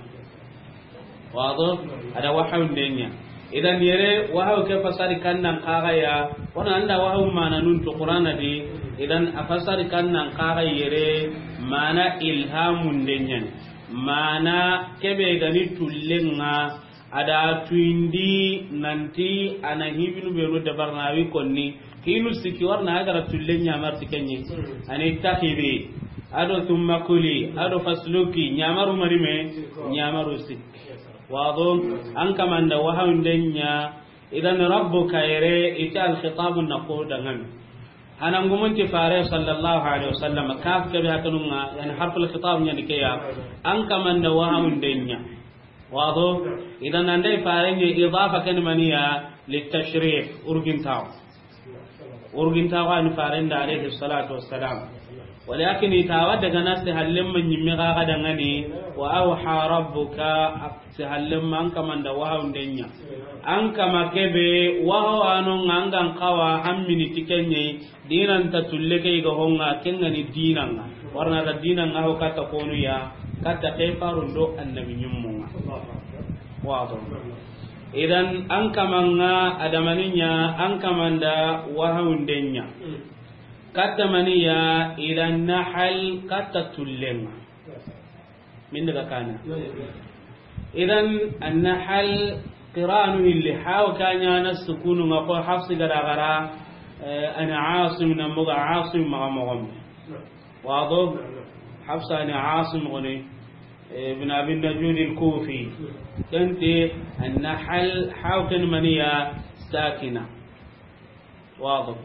Wado ada wahaw ndenya. Idan yere wahaw ke fasari kannan kaxaya, wana anda wahaw mana nun to Qur'ana di, idan a fasari kannan kaxay yere mana ilhamun denyan. Mana kebe gani tullenga ada tuindi nanti ana hibinu benu dabarnawi konni, hinu siki warna agara tullen ɲamar tikenye. Ani takibi, ado thumma kuli, ado fasluki, ɲamaru marime, ɲamaru sik. Wado, an kamanda wahaw ndenya, idan rabbuka yere ita al-khitab na ko dangan. Hanan gumunti fare sallallahu alaihi wasallam kaf kebe hakanunga, yani harful khitab nyani keya. An kamanda wahaw ndenya. Wado, idan andai fare ni idafa kan maniya litashrif urgintaw. Urgintawa ni farenda alayhi salatu wassalam. Walakin itawa daga na se hallemma ɲimme ga ga dangani wa awha rabbuka se hallemma an kamanda wahaw ndenya. An kama kebe wahaw ano ngangan kawa hammini tikenye dinan ta tulle ke ga honga kengani dinanga. Warna da dinanga ho kata konu ya kata kefarundo annabi ɲimmunga. Wado. Idan an kamanga adamaninya an kamanda wahaw ndenya. Katta maniya ila nahal katta tullenga. Min daga kana. Idan an-nahal qiranu illi haw kanya na sukunu nga ko hafsi gara gara, eh, ana asim na muga asim maga mogom. Wado hafsa ni asim gone, eh, ibn abi najud al-kufi. Kenti an-nahal haw kan maniya sakina. Wado.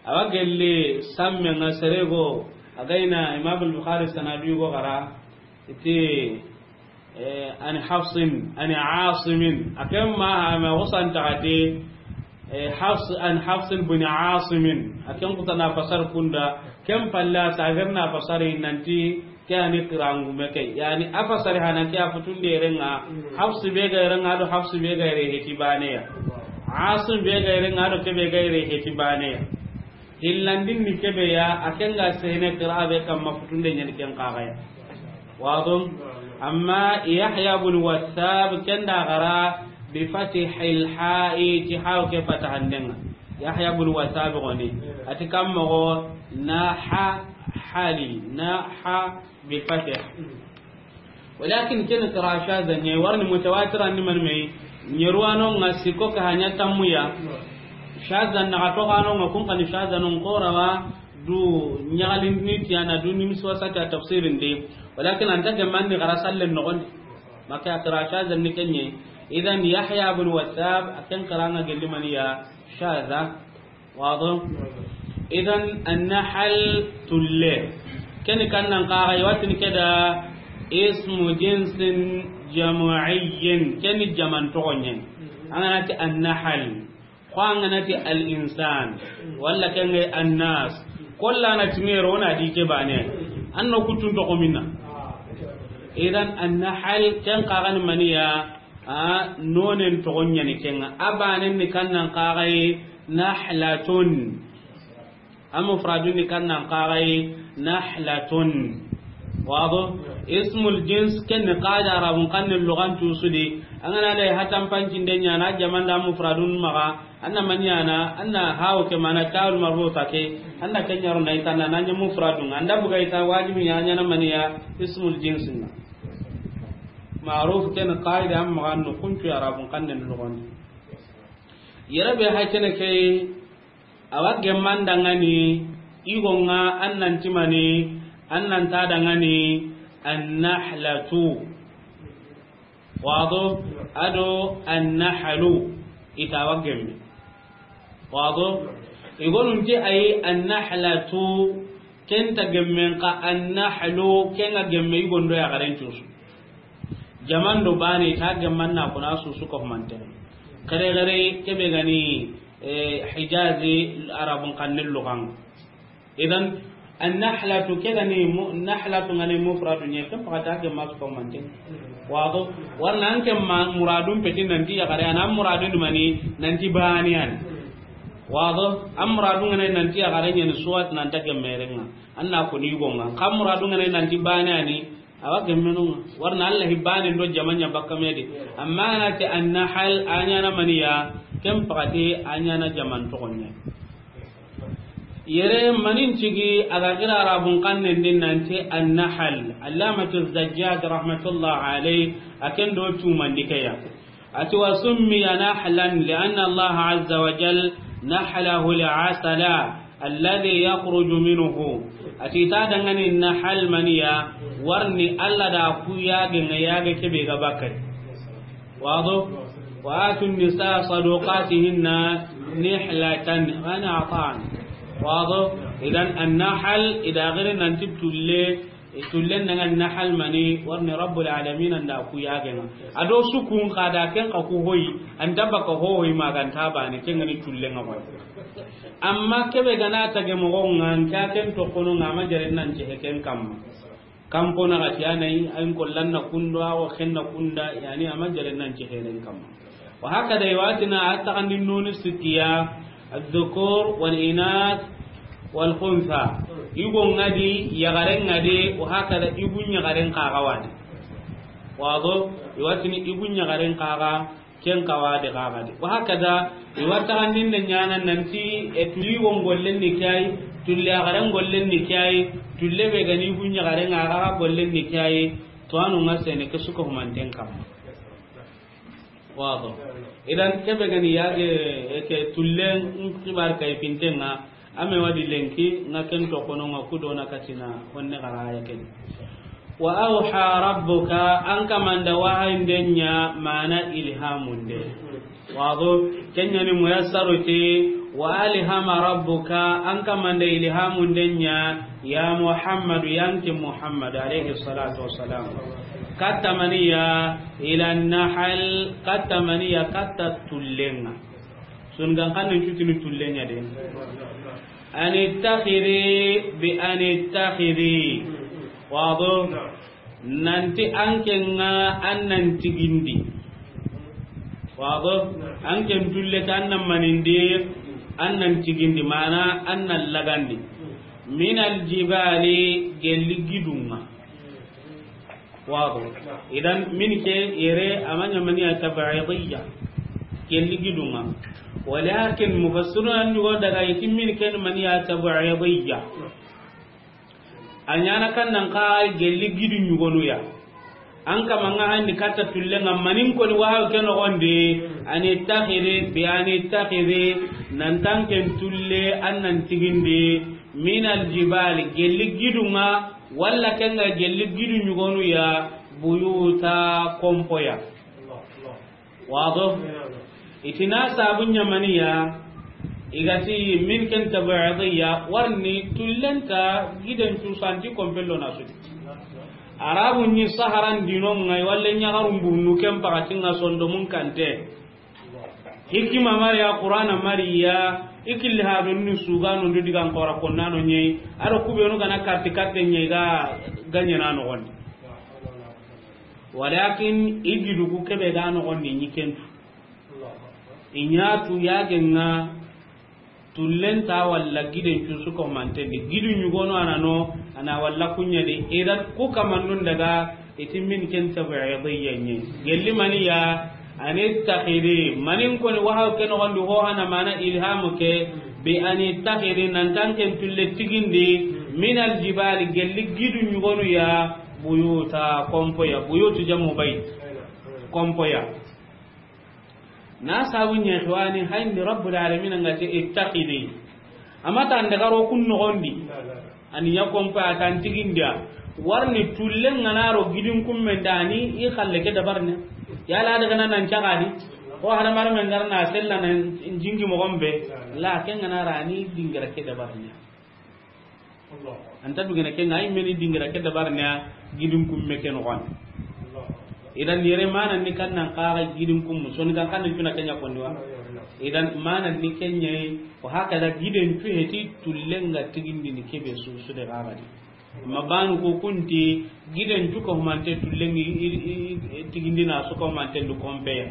Awa gelli samme nga serego, a gayna Imam al-Bukhari sanadu go gara, iti, eh, ani Hafsin, ani Asimin. A ken ma ha ma wasan taxati, eh, Hafs, an Hafsin bin Asimin. A ken kutana fasar kunda, ken palla sagirna fasari nanti, Ke ani kirangume ke. Yani, a fasari hana ke a futunde renga, Hafsu be ga renga do Hafsu be ga re heti baneya. Asim be ga renga do ke be ga re heti baneya. Hillandin ni kebe ya, a kenga sene kira be kamma futunde nyani ken kagaya. Wado? Amma Yahya bin Wasab kenda gara bi fatihil ha'i ti haw ke fatahandenga. Yahya bin Wasab goni. Ati kamma go na ha hali, na ha bil fatih. Walakin ken qira shadha ne warni mutawatira ni man me, nyeruwano nga siko ka hanya tamuya. Shadha na to kano nga kun kan shadha non korawa du nyagalin ni tiana du ni miswa sa ta tafsirin de. Walakin anta ke man ni gara sallen no gon. Maka qira shadha ni kenye. Idan Yahya bin Wasab akan qira nga gelli maniya shadha. Wado? Idan an-nahl tulle. Keni kannan kaga iwatin keda ismu jinsin jam'iyyin. Keni jaman togonyen. Angana ti an-nahl. Ko angana ti al-insan. Walla kenge an-nas. Kolla na timero na di ke bane. Anno kutun togo minna. Idan an-nahl ken kaga ni maniya. A nonen togon yani kenga. A banen ni kannan kagaye nahlatun. A mufradun ni kannan kagaye nahlatun. Wado? Ismul jins ken ni qada arabun kan ni lugan tusudi. Angana le hatan pancin de nyana jamanda mufradun maga. Anna manyana, anna hawo ke mana tawul marbuta ke. Anna kenyaro na itana nanya mufradun. Anda buga ita wajibi nyanya na maniya ismul jinsin. Ma'ruf ken qaida amma annu kuntu arabun kan ni lugan. Yere be ha kene ke, awa gemman dangani, igo nga annan timani, annan ta dangani, Annahlatu. Wado, ado annahlu, ita wa gemme. Wado, igonun ti ayi annahlatu, kenta gemmen ka annahlu, kenga gemme igondo ya garen cusu. Jaman do bane ita gemman na kuna susu ko manten. Kare kare kebe gani, eh, Hijazi Arabun kannel lugan. Idan, annahlatu ke gani mu-, nahlatu ngani mufradu nye, ken pakata ke masu ko mante. Wado, warna an ke ma muradun peti nanti ya kare, an muradun mani nanti baniyan. Wado, an muradun ngani nanti ya kare nyen suwat nanta ke merenga. Anna ko ni gonga. Kam muradun ngani nanti baniyani, awa gemmenunga. Warna Allah hibbani ndo jamanya bakka mede. Amma na te annahal anyana maniya, ken pakati anyana jaman tokonya. Yere manin cigi a ga gira Arabun kannen din nanti annahal. Allamatu Zajjaj rahmatullah alayh, a ken do tumandi keya. Ati wa summiya nahlan li anna Allah azza wa jal nahlahu li asala alladhi yakhruju minhu. Ati ta dangani nahal maniya, warni Allah da ku yage nga yage kebe ga bakari. Wado? Wa atu nisa sadaqatihinna nihlatan, gani atan. Wado? Idan annahal, ida gire nanti tulle, e, tullen nanga nahal mani, warni Rabbul Alamin anda ku yagenga. Ado sukun kada ken ka ku hoyi, anda baka hoyi maganta bani, ken ngani tullen nga hoyi. Amma kebe gana tage mogonga, nka ken to kono nga ma jare nan ce heken kamma. Kampo na gati anai, ayin kollan na kundo, awo ken na kunda, yani ama jare nan ce heren kamma. Wa hakada iwatina atta kandi noni sitiya, adh-dhukur wal inath wal khuntha. Igo ngadi, yagare ngadi, wa hakada igun yagaren kaga wadi. Wado, iwatini igun yagaren kaga, ken kawa de kaga de. Wa hakada, iwatta kandin de nyana nanti, e, tulli won gollen ni kai, tulli agaran gollen ni kai, tulle be gani gunya garen aga gollen ni kai, to anu ngasene ke suko humanten kam. Wado. Idan kebe gani yage, e, ke tullen kibar kai pintenga, Ame wadi lenki, nga ken to kono nga kudo na katina, honne garaya ken. Wa awha rabbuka, an kamanda wahayinden ɲa, mana ilhamunde. Wado, ken ɲa ni muyassaru ti, wa alhama rabbuka, an kamanda ilhamunden ɲa, ya Muhammadu, yanki Muhammad, alayhi salatu wassalam. Katta maniya, ila nahal, katta maniya, katta tullenga. Sun gan kan nan cutini tullen ɲa de. An ittakhidhi bi an ittakhidhi. Wado? Nanti an ken ŋa an nan tigindi. Wado? An ken tulle ta an nan manindi, an nan tigindi, mana an nan lagandi. Min al jibali, gelli gidun ŋa. Wado. Idan min ke yere amanya maniya tab'idiyya. Gelli gidun ŋa. Walakin mufassirun an yugo daga yiti min ke maniya tab'idiyya. Anyana kan nan ka gelli gidu ɲugonu ya. An kama nga handi katta tulle nga manin ko ni wahaw ke no gonde, an ittakhidhi bi an ittakhidhi, nan tan ken tulle an nan tigindi, min al jibali, gelli gidu ŋa, Walla ken ga gelli gidu ɲugonu ya, buyuta, kompoya. Wado? Itina sabun ɲamaniya, igati min ken tab'idiyya, warni tullenta giden cusanti kompello na sudi. Arabu ni Saharan dinon ŋa, walla ɲagarun burnu ken pakatin ŋa sondomun kante. Hikima mari ya, Qur'ana mari ya, i killi ha don ni sugano ndo digan kora konnano ɲei, aro kubenu gana karti karte ɲei ga ganyana no gondi. Walakin i gidu ku kebe ga no gondi ɲi kentu. I ɲatu yagenga. Tullenta walla giden cusu ko mantendi. Gidu ɲugono anano, ana walla kuɲadi. Idan ku kamannun daga iti min ken tab'idiyya ɲi. Gelli maniya, an ittakhidhi. Manin koni wahaw ke no gondi ho hana mana ilhamu ke, bi an ittakhidhi, nan tan ken tulle tigindi, min al jibali, gelli gidu ɲugonu ya, buyuta, kompoya, buyutu jamu bayt. Kompoya. Na sabu ɲa xiwani hayndi Rabbul Alamin nga te ittakhidhi. Amata ndagaro kun no gondi. Ani ya kompa a tan tigindiya. Warni tulle ŋa na ro gidin kummen da ni i xalle ke dabarne. Yala daga nan nan cagadi. Ko hada mar men garna sella nan jingi mo gombe. La ken ŋa na ra ni dingira ke dabarne. Anta dugene ke ŋa i meni dingira ke dabarne gidin kumme ke no gon. Idan yere mana ni kan nan kaga gidin kummu. Soni kan kan tuna kenya kondi wa. Idan mana ni kenya. Ko haka da giden tu heti tulle ŋa tigindi ni kebe su su de gagadi. Ma banu ko kunti giden tu ko mante tulle ŋa i, i, i, tigindi na su ko mante lu kompeya.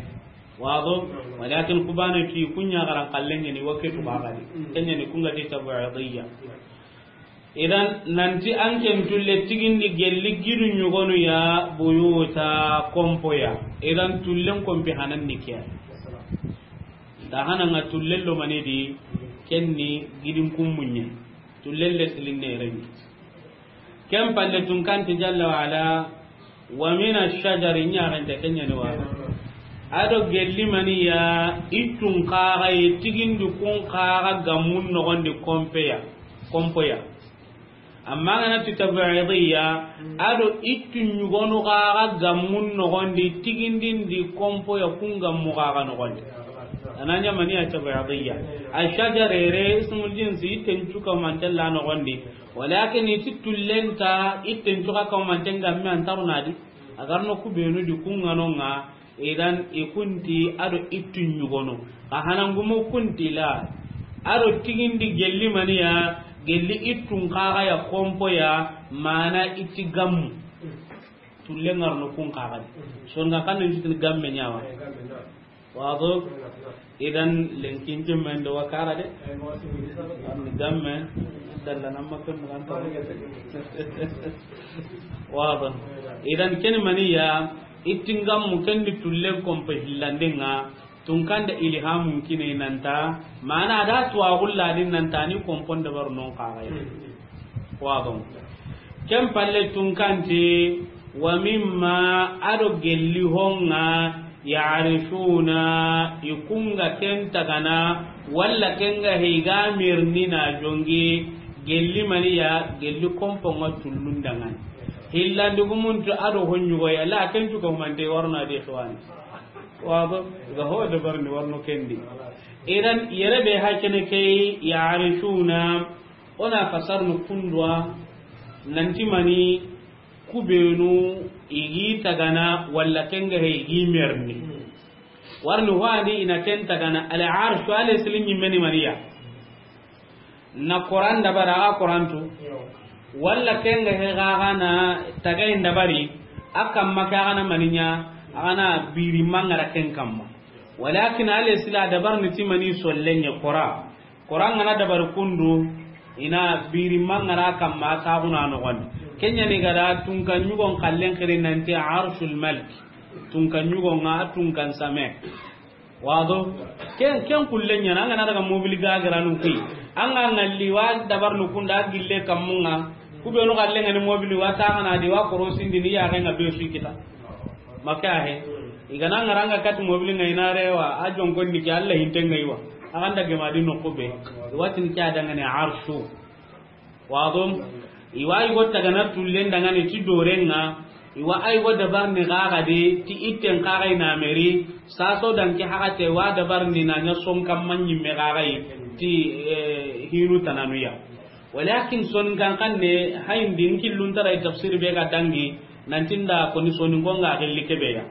Wado, walakin kubana ti kunya garan kallenge ni waketu gagadi. Kenya ni kunga ti tabu'idiyya. Idan nanti an ken tulle tigindi gelli gidu ɲugonu ya buyuta kompoya. Idan tullen kompi hanan ni kiya. Da hananga tullen lo manidi kenni gidin kummunye. Tullen le silinne remi. Ken palle tun kanti jalla wa ala. Wa mina shajari, ɲaxente ke ɲani wa. Ado gelli maniya, ittun kaga ye tigindi kun kaga gammun nogondi kompeya, kompoya. Amma ngana ti tabi'idiyya, ado ittun ɲugonu kaga gammun nogondi tigindindi kompoya kun gammu kaga nogondi. Ananya maniya tabi'idiyya. A shajarere ismul jinsi itten cuka mantella nogondi. Walakin iti tullenta itten cuka kamanten gamme antarunadi. Agarno kubenu di kunganonga. Idan ikunti ado ittun ɲugono. Ka hanangumu kunti la. Ado tigindi gelli maniya, gelli ittun kaga ya kompoya, mana itti gammu. Tulle ngarno kun kagadi. Songa kan ni gamme ɲawa. Wado. Idan lenkin jemmen do wakara de. An gamme dalla nan makke mugan ta. Wado. Idan ken maniya, ittin gammu ken di tullen kompe hillandenga. Tunkanda ilhamun kine nanta, mana da tuwa gulladin nanta ni kompon dabar non kaga. Wado. Ken palle tunkanti, wa mimma, ado gelli honga, ya'rishuna, ikunga ken tagana, walla kenga heiga mirni na jongi, gelli maniya, gelli komponga tullundangan. Hillandi gumuntu ado honyugo ya, la ken tuka humante warna de khwani. Wado, ga ho dabarni warno kendi. Idan yere be hakene kei ya'rishuna, ona fasarnu kundwa, nanti mani kubenu igi tagana walla kenga he igi merni. Warni wani ina ken tagana al arshu ale silin yimmeni maniya. Na Quran dabara a Quran tu. Walla kenga he gaga na tagay dabari. Akamma ka gana maninya, agana biri mangara ken kamma. Walakin ale sila dabar ni timani sollenye Quran. Quran ngana dabar kundu, ina biri mangara kamma ka guna no gon. Kenya ni gada tunka nyugon kallen kire nanti arshul malik. Tunka nyugon nga tunkan same. Wado, ken, ken kullen ɲana, an ga na daga mobili ga garanu kui. An ga ngalli wa dabar nu kunda gille kammunga. Kubenu galle ngani mobili wa ta ngana di wa korosindi ni ya ga nga be su kita. Maka he. Igana ngaranga kat mobili ngai na rewa, a jonkon ni ke Allah hinte ngai wa. A ganda gema di no kube. Watin ke adanga ne arshu. Wado, iwa igo tagana tullen dangane ti dorenga, iwa aigo dabar ni gaga de, ti itten kaga ina meri, saso danke hagate wa dabar ni na nya son kam manyi me gaga yi, ti, eh, hinu tananuya. Walakin son kan kan ne, hayin din killun tarai tafsir be ga dangi, nantinda koni soni ngonga gelli kebeya.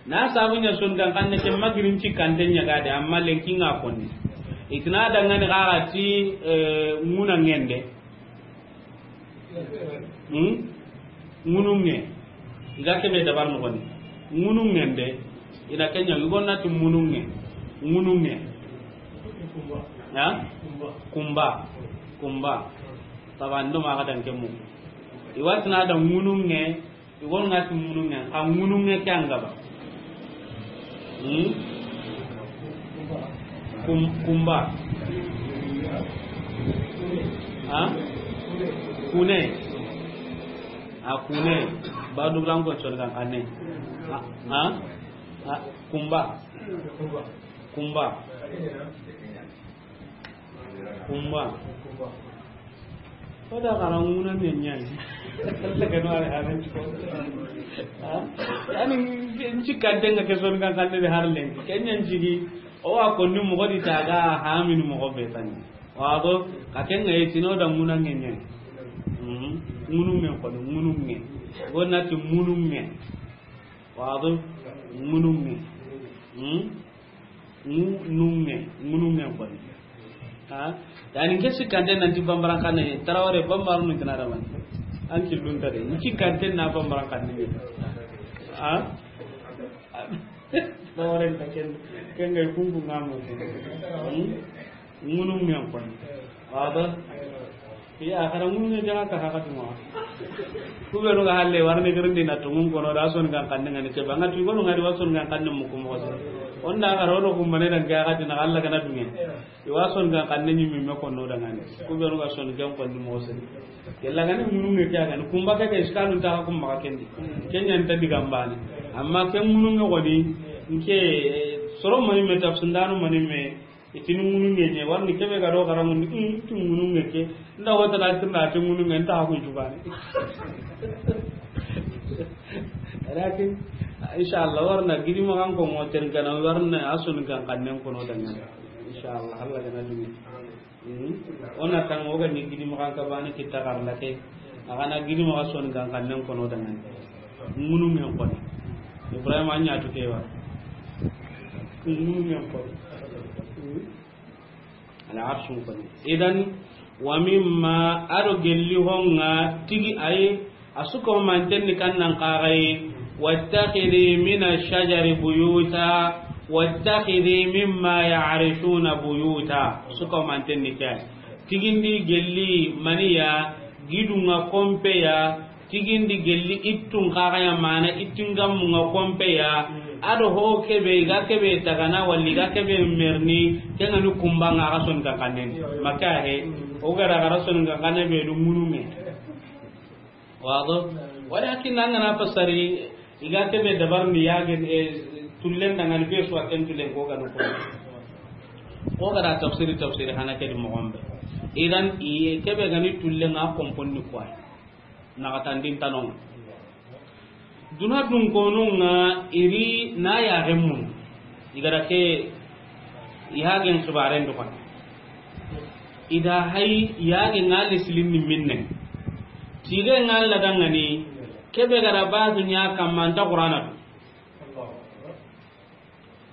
Na sabu nya son kan kan ne ke magirin ci kante nya gade, amma lenki nga koni. Itina dangane gaga ti, eh, nguna ngende. Hmm? Ŋununŋe. Iga kebe dabar noxoni. Ŋununŋe nde. Ina kenya, igo nati ŋununŋe. Ŋununŋe. Ha? Kumba. Kumba. Saba ndo maxa dan kemu. Iwatina da ŋununŋe. Igon ŋa ti ŋununŋe, xa ŋununŋe ke an gaba. Hmm? Kum-, kumba. Ha? Kune. A kune. Ba dubran ko chol kan kane. Ha? Ha? Ha? Kumba. Kumba. Kumba. O da xara ŋuna ne ɲaani. Alla ga no ari haran ko. Ha? Yani, n ci kante nga ke son kan kan de har len. Ken ɲan jigi. O wa ko ni mo di taga ha min mo be tan. Wa do ka ken nga yitino da ŋuna ne ɲaani. Mhm. Ŋunu ne ko ŋunu ne. Wona ti ŋunu ne. Wa do ŋunu ne. Mhm. Ŋu-, ŋununŋe, ŋununŋe koni. Ha? Yani, n ke sikkante nanti bambaran xanne, Tarawore bambaru ni tana da man. An killun ta de, n sikkante na bambaran xanne ni. Ha? Tarawore ta ken, ken ga kunku ngamo. Hmm? Ŋununŋe koni. Wada? Iya, xara ŋunu ne jaga ka haka tuma. Ku be no ga halle warne girindi na tungun kono da son kan kanne ngani ke banga tu kono ngadi wa son kan kanne mu kuma wasa. Onda ga rono ku mane dan ga ga dina Allah kana dunge. I wa son kan kanne ni mi me kono da ngani. Ku be no ga son kan kanne mo sen. Kella ngani ŋunu ne kya ngani kumba ke ke iskalun ta kumba kendi. Kenya nta diga mbani. Amma ken ŋunu ne woni nke soro mani me tafsindano mani me. Itini ŋununŋe ɲe, warni kebe ga do xara ŋunu, mm, ti ŋununŋe ke. Nda wata na tirna ti ŋununŋe, nta hakun jubane. Lakin, inshallah, warna gidi magan ko mo ten kana, warna asun kan kannen kono dangan. Inshallah, Allah gana dumi. Mm. Ona tan o ga ni gidi magan ka bani kita karla ke. A ga na gidi magan son kan kannen kono dangan. Ŋunu men koni. Ibrahima a ɲa tu kewa. Ŋunu men koni. Al arshun koni. Idan, wa mimma, ado gelli honga tigi ay, asuko mantenni kannan kagai, wattakhidhi min ash-shajari buyuta, wattakhidhi mimma ya'rishuna buyuta. Suko mantenni kay. Tigindi gelli maniya, gidunga kompeya, tigindi gelli ittun kaxaya mana ittingammunga kompeya, ado ho kebe, iga kebe tagana, walli iga kebe merni, kengani kumbanga axa soni kankannen. Makka he, o gara axa soni kankanne be du ŋunume. Wado? Walakin angana fasari, iga kebe dabar ni yagen, e, tullen dangani be suwa ken tullen ko gano ko. Ko gara tafsiri, tafsiri hana kedi mogombe. Idan, iye kebe gani tullen nga komponni kwa. Naxatandin tanonga. Duna dun konunga iri na yaxen mun. Igara ke yaxen xibaren du xan. Ida hay yaxen nga lisilin ni minne. Tige nga ladangani kebe gara basu ɲa kamma anta Qur'ana tu.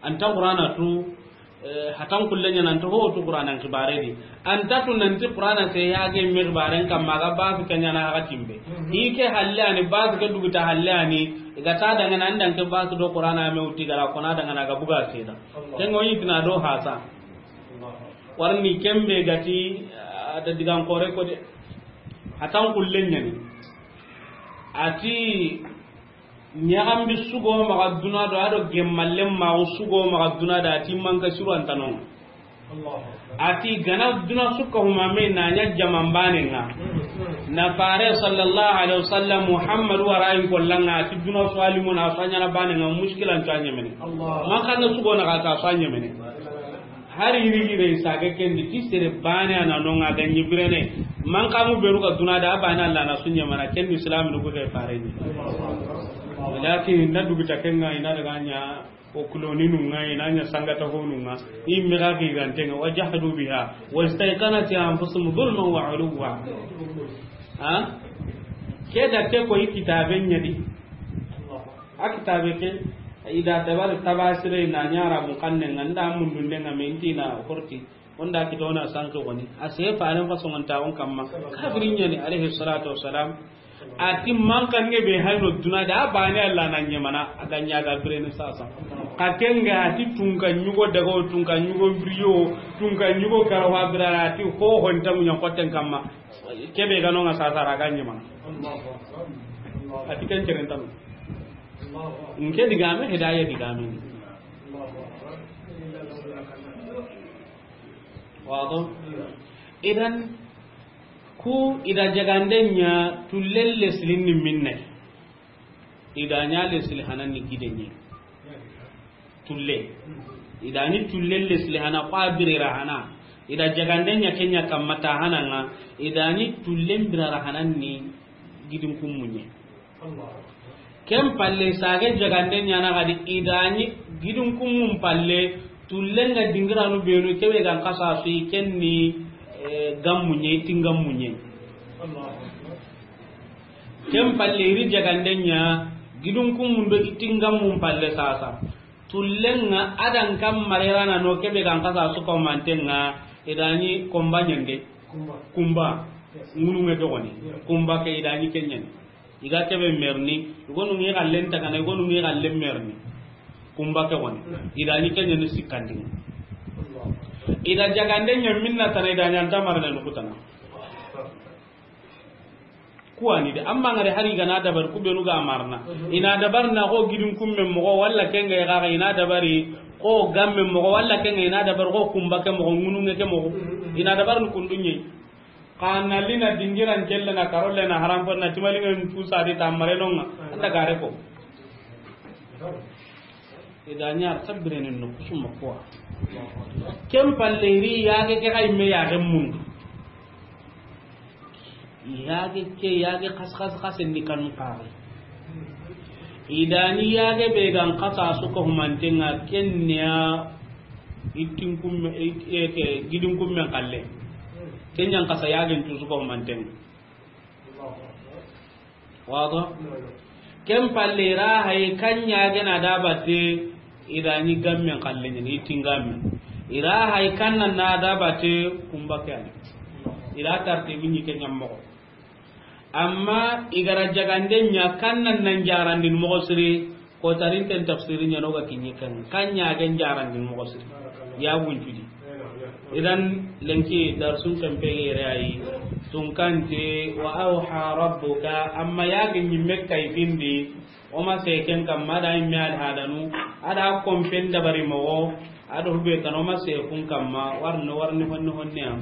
Anta Qur'ana tu, eh, hatan kulle ɲa nan to ho tu Qur'ana xibare di. Anta tu nanti Qur'ana se yage me xibaren kamma ga basu ke ɲa na ga timbe. Ike halle ani basu ke duguta halle ani, iga ta dangana andan ke basu do Qur'ana me uti gara kona dangana ga buga seda. Ken go yitina do hasa. Warni kembe gati, ah, da digan kore ko de. Hatan kulle ɲa ni. Ati Ɲaxambi sugo maxa duna do, ado gemmallen maxu sugo maxa duna da, ati manka siru antanon. Ati gana duna sukka humame na ɲa jaman bane nga. Na fare sallallahu alaihi wasallam Muhammadu warayin kollanga, ati duna sualimu na suanyana bane nga, mushkilan ta ɲemene. Manka na sugo na ka suanyemene. Hari yiri yire sage kendi ti sere bane ana nonga ga ɲibirene. Mankamu beru ga duna da bane Allah na sunye mana ken Islam nugo ke fareni. Lakin na dugu ta kenga ina daga nya o kuloni nunga ina nya sangata ho nunga. Imme ga gi gante nga, wajahadu biha wastaiqanat anfusuhum zulman wa uluwa. Ha? Ke da ke ko i kitabe ɲa di. A kitabe ke, ida tabar tabasire na ɲara mu kanne nga nda mundunde nga minti na horti. Onda kitona sanke woni. A se faren fa songonta on kamma. Kafirin ɲa ni, alayhi salatu wassalam. Ati mankange be hayno duna da, a bane Allah na ɲemana, a ga ɲa ga birene sasa. Ka kenga ati tunka ɲugo daga o, tunka ɲugo biriyo, tunka ɲugo karawa birara, ati ho honta munya koten kamma. Kebe gano nga sasa ra ga ɲemana. Ati ken ceren tanu. Nke digame, hidaya digame ni. Wado? Idan, ku ida jaganden ɲa tullelle silin ni minne. Ida ɲa le sili hanan ni giden ɲi. Tulle. Ida ni tullelle sili hana, kwa birera hana. I da jagande ɲa ke ɲa kamma ta hananga, i da ni tullen birara hanan ni gidin kummunye. Ken palle sage jagande ɲa na gadi i da ni gidin kummun palle tullen ga dingiranu benu kebe gan kasa su i ken ni, eh, gammunye, i tingammunye. Ken palle iri jagande ɲa gidin kummun do i tingammun palle sasa. Tullenga adan kam marerana no kebe gan kasa su ko mantenga idani komba nyande. Kumba. Kumba. Yes. Ngunu nge dogoni. Yeah. Kumba ke idani kenyen. Iga kebe merni, igonu ngi gallen tagana, igonu ngi gallen merni. Kumba ke woni. Yeah. Idani kenyen sikandi. Allah. Ida jagande nya minna tana idani anta marana no kutana. Kuwani de, amma ngare hari gana dabar ku benu ga marna. Mhm. Ina dabar na ko gidin kumme mogo, walla kenga ya ga ina dabari ko gamme mogo, walla kenga ina dabar ko kumba ke mogo, ngununge ke mogo. Mhm. Ina dabar ni kundunye. Kana lina dingiran kelle na karole na haram pon na timalinga tusa di tamare nonga. Mhm. Anda gare ko. Ida ɲa sabirene no kusuma kuwa. Ken palle iri yage ke kay me yage mun. Yage ke yage kas kas kas ni kan kare. Idani yage be gan kasa su ko humantenga kenya itin kumme, i-, e, ke gidin kumme kalle. Kenya kasa yage tu su ko humantenga. Wado? Ken palle ira hay kanya gena dabate, ira ni gamme kalle ni tingamme. Ira hay kanna na dabate kumba kyan. Ira tarte mini kenya mogo. Amma igara jagande nya kanna nan jarandin mogo siri. Ko tarinten tafsiri ɲa no ga kiɲi kan, kan ɲa gen jarandi mogo siri. Ya gunjudi. Idan lenki darsun kan pegere ayi. Tunkante wa awha rabbuka, amma ya gen ɲimme kay bindi. O ma se ken kamma da imme al hadanu. Ada kompen dabari mogo. Ado hube kan o ma se kun kamma. Warno warni honni honni am.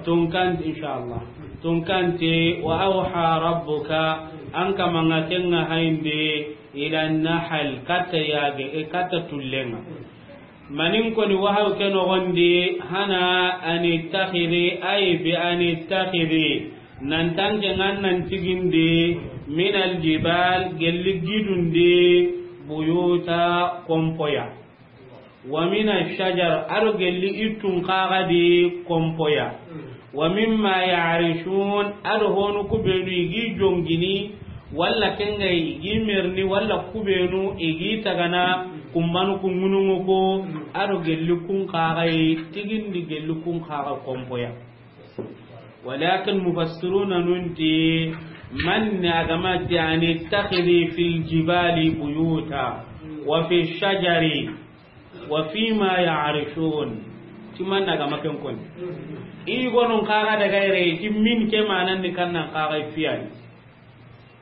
Tunkan inshallah. Tunkante wa awha rabbuka. An kamanga kenga hainde. Ila nahal, katta yage, e, katta tullenga. Manin koni wahaw ke nogondi, hana an ittakhidhi, ay bi an ittakhidhi, nan tanke ngan nan tigindi, min al jibal, gelli gidundi, buyuta, kompoya. Wa mina shajar, ado gelli ittun kaga di kompoya. Wa mimma ya'rishun, ado honu kubenu igi jongini, walla kenga igi merni, walla kubenu igi tagana, kumbanu kungunungu ko, ado gelli kun kaga yi, tigindi gelli kun kaga kompoya. Walakin mufassiruna nunti, man ne agamati yani takhiri fil jibali buyuta, wa fi shajari, wa fi ma ya'rishun. Timan na gama ken koni. I gonon kaga daga ire, ti min ke manan ni kannan kaga fiyani.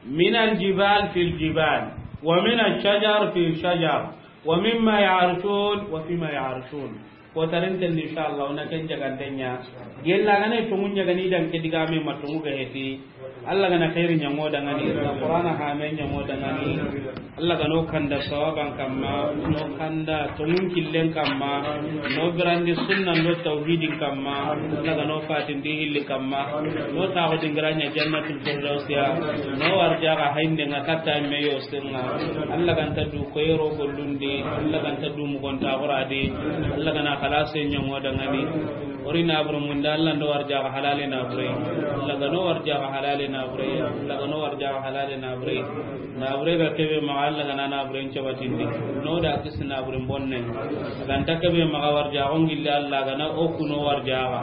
Min al jibal fil jibal, wa min al shajar fil shajar, wa mimma ya'rishun, wa fi ma ya'rishun. Ko tarenten inshallah na ken jagandenya. Gella gane to munya gani dan ke diga me matungu ga heti. Allah gana khairi ɲango dangani, Qur'ana ha me ɲango dangani. Allah gano kanda sawaban kamma, no kanda tongun killen kamma, no grandi sunna no tawhidin kamma, Allah gano fatin di hilli kamma, no tawo dingranya jannatul firdausiya, no warjaga hainde nga katta me yo senga. Allah ganta du koyro gollundi, Allah ganta du mugonta goradi, Allah gana khalase ɲango dangani. Ori nabure munda, Allah ndo warjaga halale nabure. Allah gano warjaga halale nabure. Allah gano warjaga halale nabure. Nabure ga kebe maga, Allah gana nabure ncabatindi. No da kisi nabure bonne. Ganta kebe maga warjaga ngille, Allah gana oku no warjaga.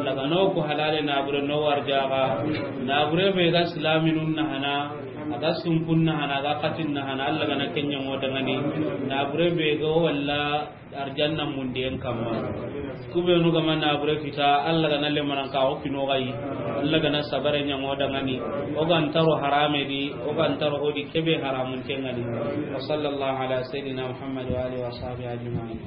Allah gana oku halale nabure no warjaga. Nabure be ga islaminun na hana, aga sunkun na hana, aga katin na hana, Allah gana kenya ngota ngani. Nabure be ga walla arjanna mundiyen kamma. Kubenu gama nabure kita, Allah gana lemanan ka o kino gayi. Allah gana sabare ɲango dangani. O gan taro harame di, o gan taro hodi kebe haramun tengani. Wa sallallahu ala sayyidina Muhammad wa alihi wa sahbihi ajma'in.